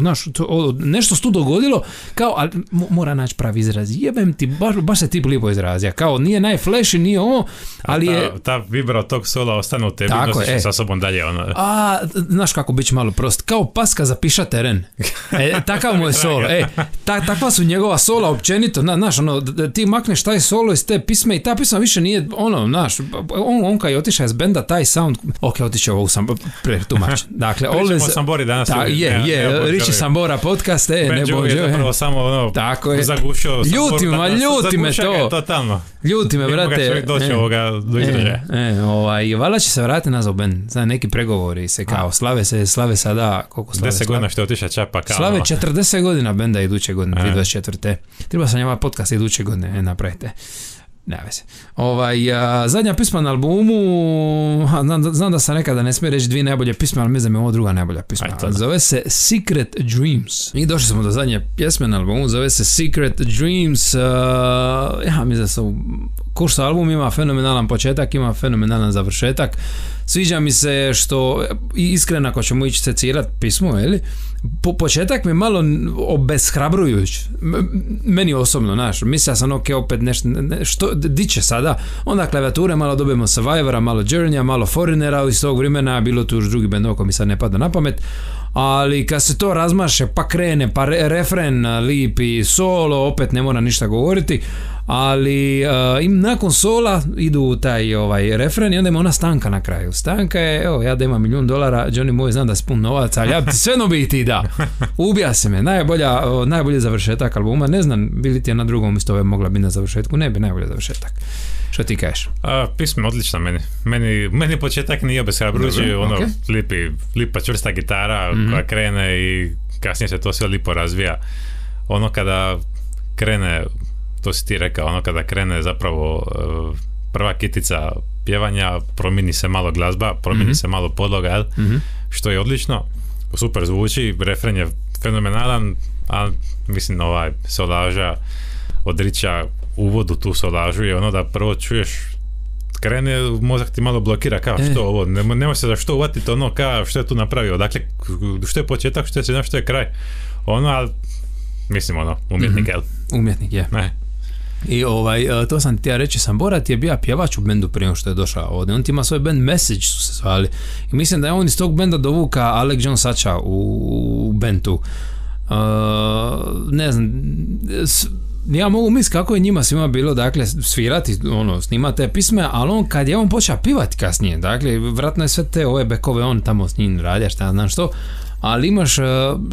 naš, to, nešto se tu dogodilo, kao, ali mora naći pravi izraz. Jebem ti, baš, baš se tip lipo izrazija. Kao, nije najflashi, nije ovo, ali ta, je... Ta vibra od tog sola ostane u tebi, tako, nosiš e. sa sobom dalje. Ono. A, znaš kako bit će malo prost. Kao paska zapiša teren. E, takav mu je solo. E, ta, takva su njegova sola općenito. Na, znaš, ono, ti makneš taj solo iz te pisme i ta pisma više nije, ono, znaš, on, on kad je otišao iz benda, taj sound, ok, otiče ovo sam pretumač. Dakle, always... Sambori danas. Ta, je, je, je Riči Sambora podcast, e, Ben ne bođe. Ben je zapravo samo ono, tako je. zagušio Samboru. Ljuti me, ljuti me to. Totalno. Ljuti me, brate. Ne moga čovjek doći e, ovoga do izražaja. E, e, ovaj, valjda će se vratiti nazad Ben. Znači, neki pregovori se kao, A. slave se, slave sada, koliko slave? deset godina što je otišao čapa kao. Slave četrdeset godina benda iduće godine, dvije tisuće dvadeset četvrte. Treba sam njema podcast iduće godine, e, napravite. Ne veze. Ovaj, a, zadnja pisma na albumu, a, znam, znam da sam nekada ne smije reći dvije najbolje pisme, ali mislim da je ovo druga najbolja pisma. Aj, zove se Secret Dreams. I došli smo do zadnje pjesme na albumu, zove se Secret Dreams. Uh, ja mislim da su kurs album ima fenomenalan početak, ima fenomenalan završetak. Sviđa mi se što, iskreno ako ćemo ići secirati pismo, jeli? Po početak mi malo obeshrabrujuć. Meni osobno, znaš, mislio sam ok, opet nešto, ne, što, di će sada? Onda klavijature, malo dobijemo Survivora, malo Journeya, malo Foreignera iz tog vremena, bilo tu još drugi bend oko mi sad ne pada na pamet, ali kad se to razmaše, pa krene, pa re, refren lipi, solo, opet ne mora ništa govoriti, ali uh, im nakon sola idu taj ovaj refren i onda ima ona stanka na kraju. Stanka je, evo, ja da imam milijun dolara, Johnny moj, znam da si pun novaca, ali ja bi ti sve no bi ti da. Ubija se me, najbolja, uh, najbolji završetak albuma, ne znam, bili ti je na drugom isto ove mogla biti na završetku, ne bi najbolji završetak. Što ti kažeš? A, pismo odlično meni. Meni, meni početak nije obeshrabrujući, ono, okay. lipi, lipa čvrsta gitara mm-hmm. koja krene i kasnije se to sve lipo razvija. Ono kada krene, to si ti rekao, ono kada krene zapravo prva kitica pjevanja, promijeni se malo glazba, promijeni mm-hmm. se malo podloga, jel? Mm-hmm. Što je odlično, super zvuči, refren je fenomenalan, a mislim ovaj solaža odriča uvodu tu solažu je ono da prvo čuješ, krene, mozak ti malo blokira, kao e. što ovo, nema, nema se za što uvatiti ono, kao što je tu napravio, dakle, što je početak, što je sredina, što je kraj, ono, ali, mislim, ono, umjetnik, jel? Mm-hmm. Umjetnik, je. Ne. I ovaj, to sam ti ja reći, Sambora ti je bio pjevač u bendu prije nego što je došao ovdje, on ti ima svoj band Message su se zvali, i mislim da je on iz tog benda dovuka Alec John Sacha u, u bendu. Uh, ne znam, s, ja mogu misliti kako je njima svima bilo, dakle, svirati, ono, snima te pisme, ali on, kad je on počeo pivati kasnije, dakle, vratno je sve te ove bekove, on tamo s njim radija, šta znam što, ali imaš, uh,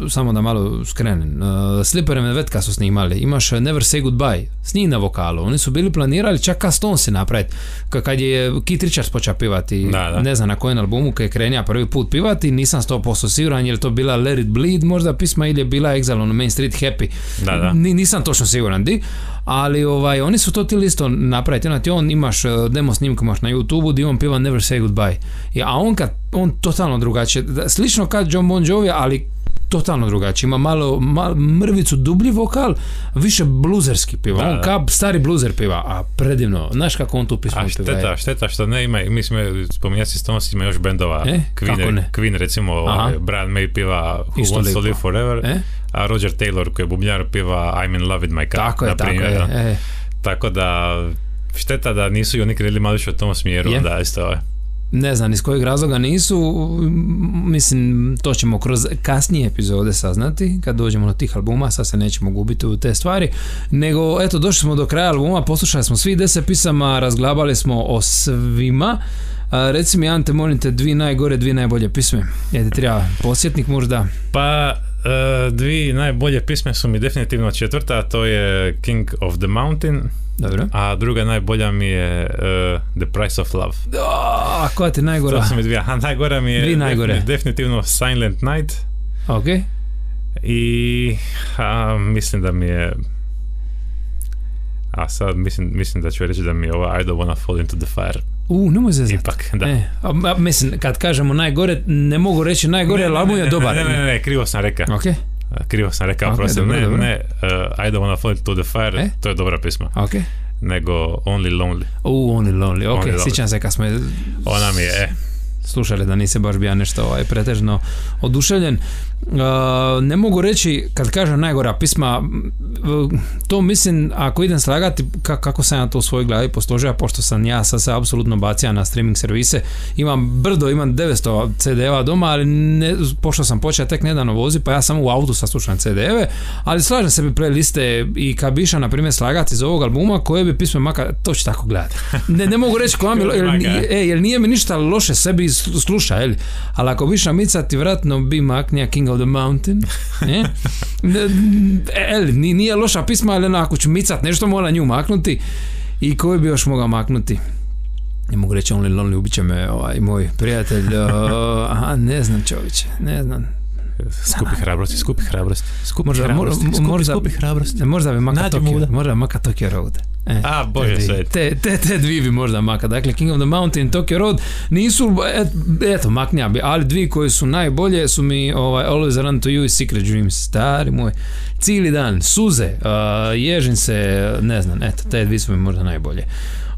samo da malo skrenem, uh, Slipper and Vetka su snimali, imaš uh, Never Say Goodbye, s njim na vokalu, oni su bili planirali čak ka Stonesi napraviti, kad je Keith Richards počeo pivati, da, da. Ne znam na kojem albumu kad je krenija prvi put pivati, nisam sto posto siguran, je li to bila Let It Bleed možda pisma ili je bila Exile on Main Street Happy, da, da. N- nisam točno siguran di, ali ovaj, oni su to ti listo napraviti, znači on imaš uh, demo snimku imaš na YouTube di on piva Never Say Goodbye, I, a on kad, on totalno drugačije, slično kad John Bon Jovi, ali totalno drugačije, ima malo, malo mrvicu dublji vokal, više bluzerski piva, da, on kao stari bluzer piva, a predivno, znaš kako on tu pismo piva. A šteta, šteta što ne ima, mi smo spominjati Stones, ima još bendova, e? Queen, Queen recimo, ovaj, Brian May piva Who Wants to Live Forever, e? A Roger Taylor koji je bubnjar piva I'm in love with my car, tako je, naprimjer, tako je, e. Tako da šteta da nisu i oni krenuli malo više u tom smjeru, yeah. Da isto ovaj. ne znam iz kojeg razloga nisu, mislim to ćemo kroz kasnije epizode saznati kad dođemo do tih albuma, sad se nećemo gubiti u te stvari, nego eto došli smo do kraja albuma, poslušali smo svih deset pisama, razglabali smo o svima. A, reci mi Ante, molim te, dvi najgore, dvi najbolje pisme, je ti treba podsjetnik možda? Pa uh, dvi najbolje pisme su mi definitivno četvrta, a to je King of the Mountain. Dobro. A druga najbolja mi je uh, The Price of Love. A koja ti najgora? To su mi dvije. A najgora mi je najgore. definitivno Silent Night. Ok. I a, mislim da mi je a sad mislim, mislim da ću reći da mi je ova I Don't Wanna Fall Into the Fire. U, nemoj zezati. Ipak, da. E, a, a, mislim, kad kažemo najgore, ne mogu reći najgore, ali album je dobar. Ne, ne, ne, ne, krivo sam rekao. Ok. Krivo sam rekao, Okay, prosim, dobro, ne, dobro. ne, uh, I Don't Wanna Fall Into the Fire, e? to je dobra pisma. Ok. Nego Only Lonely. U, Only Lonely, ok, Only sjećam se kad smo je Ona mi je, e. slušali da nisi baš bio nešto ovaj, pretežno oduševljen. Uh, ne mogu reći, kad kažem najgora pisma, uh, to mislim, ako idem slagati ka, kako sam ja to u svojoj glavi posložio, pošto sam ja sad se apsolutno bacio na streaming servise, imam brdo, imam devetsto ce de eva doma, ali ne, pošto sam počeo tek nedavno vozi, pa ja sam u autu saslušam ce de eve, ali slažem sebi playliste i kad bi išao, na primjer, slagati iz ovog albuma, koje bi pisme maka, to ću tako gledati. Ne, ne mogu reći koja mi, jer, e, jer nije mi ništa loše sebi sluša, jel? Ali ako bi išao micati, vratno bi maknija King of the Mountain. E? El, nije loša pisma, ali ako ću micat nešto, mora nju maknuti. I koji bi još mogao maknuti? Ne mogu reći Only Lonely, ubit će me ovaj moj prijatelj. Uh, aha, ne znam čovječe, ne znam. Skupi hrabrosti, skupi hrabrosti. Skupi možda, hrabrosti, mo, skupi, možda, skupi hrabrosti. Možda bi maka Tokyo, možda maka Tokyo Road. E, A, bože te, sve. Te, te, te dvi bi možda maka. Dakle, King of the Mountain, Tokyo Road nisu, et, eto, maknija bi, ali dvi koji su najbolje su mi ovaj, Always Run to You i Secret Dreams. Stari moj, cijeli dan, suze, uh, ježim se, ne znam, eto, te dvi su mi možda najbolje.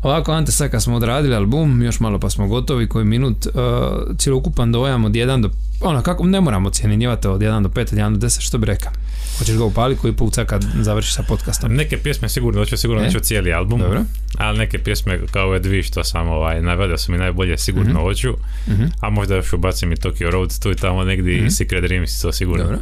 Ovako, Ante, sad kad smo odradili album, još malo pa smo gotovi, koji minut, uh, cjelokupan dojam od jedan do, ono, kako, ne moramo ocjenjivati od jedan do pet, od jedan do deset, što bi rekao? Hoćeš ga upali koji put sad kad završiš sa podcastom? Neke pjesme sigurno, hoću sigurno e? neću cijeli album, dobro. Ali neke pjesme kao ove dvije što sam ovaj, navedio su mi najbolje, sigurno mm-hmm. hoću, mm-hmm. a možda još ubacim i Tokyo Road, tu i tamo negdje mm-hmm. i Secret Dreams, to sigurno. Dobro,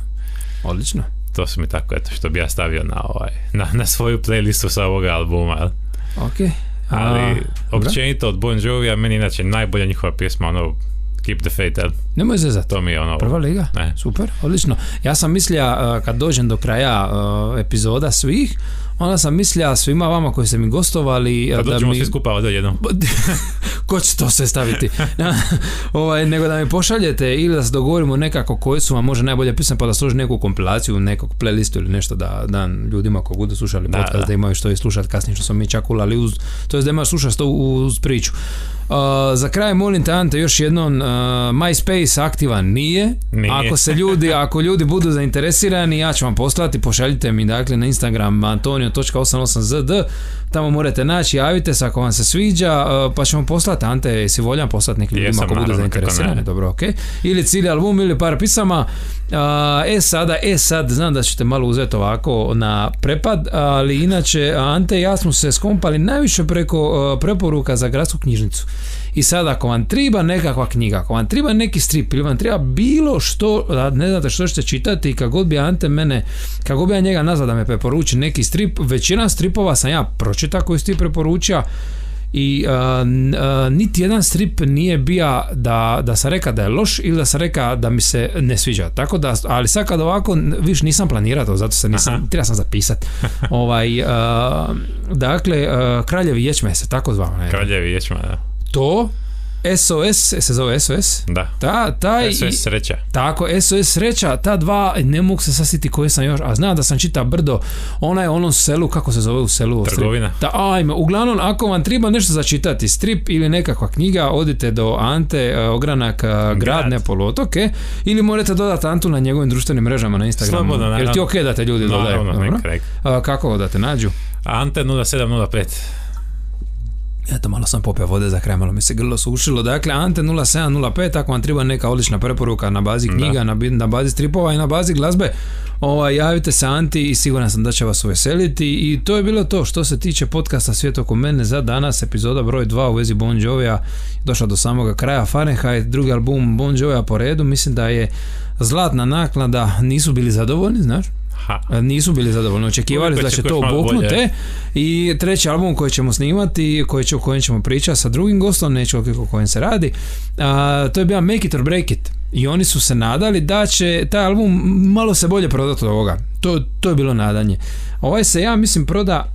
odlično. To su mi tako, eto, što bi ja stavio na, ovaj, na, na svoju playlistu sa ovoga albuma. Ok. Ali općenito od Bon Jovija meni inače najbolja njihova pjesma, ono Keep the Faith, el? Nemoj zezati. To mi je ono... Prva liga? Ne. Super, odlično. Ja sam mislio, uh, kad dođem do kraja uh, epizoda svih, onda sam mislio svima vama koji ste mi gostovali... Kad da dođemo mi... svi skupa ovdje jednom. Ko će to sve staviti? ovaj, nego da mi pošaljete ili da se dogovorimo nekako koji su vam može najbolje pisane, pa da složi neku kompilaciju, nekog playlistu ili nešto da dan ljudima koji budu slušali da, podcast, da. da imaju što i slušati kasnije, što smo mi čak ulali uz... To je da imaju slušati to uz priču. Uh, za kraj molim te, Ante, još jednom, uh, MySpace aktivan nije. nije. Ako se ljudi, ako ljudi budu zainteresirani, ja ću vam poslati, pošaljite mi dakle na Instagram antonio točka osam osam zet de, tamo morate naći, javite se ako vam se sviđa, uh, pa ćemo poslati, Ante, jesi voljan poslati nekim ljudima ako budu zainteresirani, dobro, ok. Ili cijeli album ili par pisama. Uh, e sada, e sad, znam da ćete malo uzeti ovako na prepad, ali inače Ante i ja smo se skompali najviše preko uh, preporuka za gradsku knjižnicu. I sad ako vam treba nekakva knjiga, ako vam treba neki strip ili vam treba bilo što, ne znate što ćete čitati, kako god bi Ante mene, kako bi ja njega nazvao da me preporuči neki strip, većina stripova sam ja pročitao koji si ti preporučio i uh, uh, niti jedan strip nije bio da, da sam rekao da je loš ili da sam rekao da mi se ne sviđa, tako da, ali sad kad ovako viš nisam planirao to, zato se nisam, treba sam zapisati ovaj, uh, dakle uh, Kraljevi ječme se tako zvao, ne? Kraljevi ječme, da. To es o es, se zove es o es? Da. Ta, taj, es o es sreća. Tako, es o es sreća, ta dva, ne mogu se sasjetiti koje sam još, a znam da sam čita brdo, ona je u onom selu, kako se zove u selu? Trgovina. Ta, ajme, uglavnom, ako vam treba nešto začitati, strip ili nekakva knjiga, odite do Ante Ogranak, Grad, Grad. ne poluotoke, ili morate dodati Antu na njegovim društvenim mrežama na Instagramu. Slobodno, naravno. Jer ti ok da te ljudi dodaju? Naravno, a, kako da te nađu? Ante nula sedam nula pet. Eto, malo sam popio vode za kraj, malo mi se grlo sušilo. Dakle, Ante nula sedam nula pet, ako vam treba neka odlična preporuka na bazi knjiga, na, na bazi stripova i na bazi glazbe, Ovaj, javite se Anti i siguran sam da će vas uveseliti. I to je bilo to što se tiče podcasta Svijet oko mene za danas. Epizoda broj dva u vezi Bon Jovija došla do samoga kraja. Fahrenheit, drugi album Bon Jovija po redu. Mislim da je zlatna naklada. Nisu bili zadovoljni, znaš? Ha. Nisu bili zadovoljni, očekivali da će to oboknute. I treći album koji ćemo snimati, koji će, o kojem ćemo pričati sa drugim gostom, neću o kojem se radi, a, to je bio Make It or Break It. I oni su se nadali da će taj album malo se bolje prodati od ovoga. To, to je bilo nadanje. Ovaj se, ja mislim, proda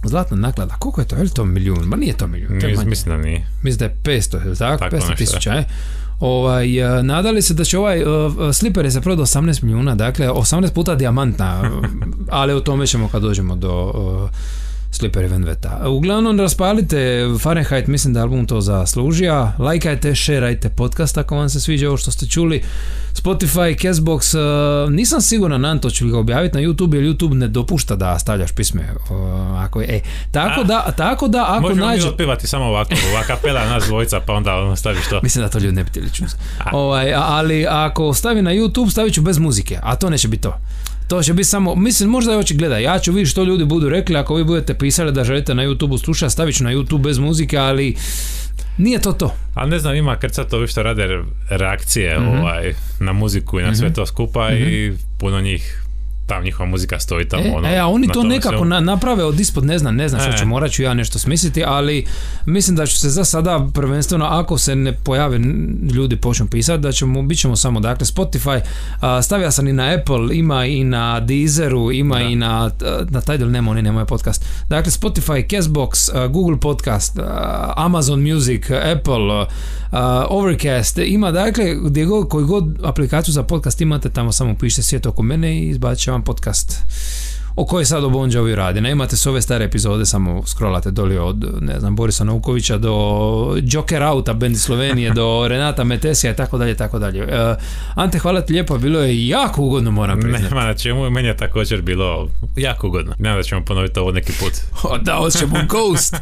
zlatna naklada. Koliko je to? Je li to milijun? Ma nije to milijun. To je mislim da nije. Mislim da je petsto, tako? tako petsto tisuća, je. Ovaj, nadali se da će ovaj uh, Slipper je se prodao osamnaest milijuna, dakle osamnaest puta dijamantna, ali o tome ćemo kad dođemo do uh, Slipper i Vendetta. Uglavnom raspalite Fahrenheit, mislim da album to zaslužija, lajkajte, šerajte podcast ako vam se sviđa ovo što ste čuli, Spotify, Castbox, uh, nisam siguran na to ću ga objaviti na YouTube jer YouTube ne dopušta da stavljaš pisme, uh, ako je, e, tako, A, da, tako da ako možemo nađe... Možemo mi otpivati samo ovako, ovaka kapela nas dvojica pa onda staviš to. Mislim da to ljudi ne bi htjeli čuti. Ovaj, ali ako stavi na YouTube stavit ću bez muzike, a to neće biti to. To će biti samo, mislim, možda je oči gleda, ja ću vidjeti što ljudi budu rekli, ako vi budete pisali da želite na YouTube slušati, stavit ću na YouTube bez muzike, ali nije to to. Ali ne znam, ima kad sad to što rade reakcije mm-hmm. ovaj, na muziku i na mm-hmm. sve to skupa mm-hmm. i puno njih tam njihova muzika stoji tamo. E, ono, e a oni to nekako na, naprave od ispod, ne znam, ne znam što e. ću, morat ću ja nešto smisliti, ali mislim da ću se za sada prvenstveno, ako se ne pojave ljudi počnu pisati, da ćemo, bit ćemo samo, dakle, Spotify, a, stavio sam i na Apple, ima i na Deezeru, ima da. i na, na Tidal, nema, oni nemaju podcast. Dakle, Spotify, Castbox, Google Podcast, Amazon Music, Apple, Overcast, ima, dakle, gdje god, koju god aplikaciju za podcast imate, tamo samo pišite Svijet oko mene i izbacit će vam podcast o kojoj sad o Bon Jovi radi. Ne imate s ove stare epizode, samo scrollate doli od, ne znam, Borisa Naukovića do Joker Auta, bendi Slovenije, do Renata Metesija i tako dalje, tako dalje. Uh, Ante, hvala ti lijepo, bilo je jako ugodno, moram priznati. Nema na čemu, meni je također bilo jako ugodno. Nema da ćemo ponoviti ovo neki put. Da, hoćemo Ghost.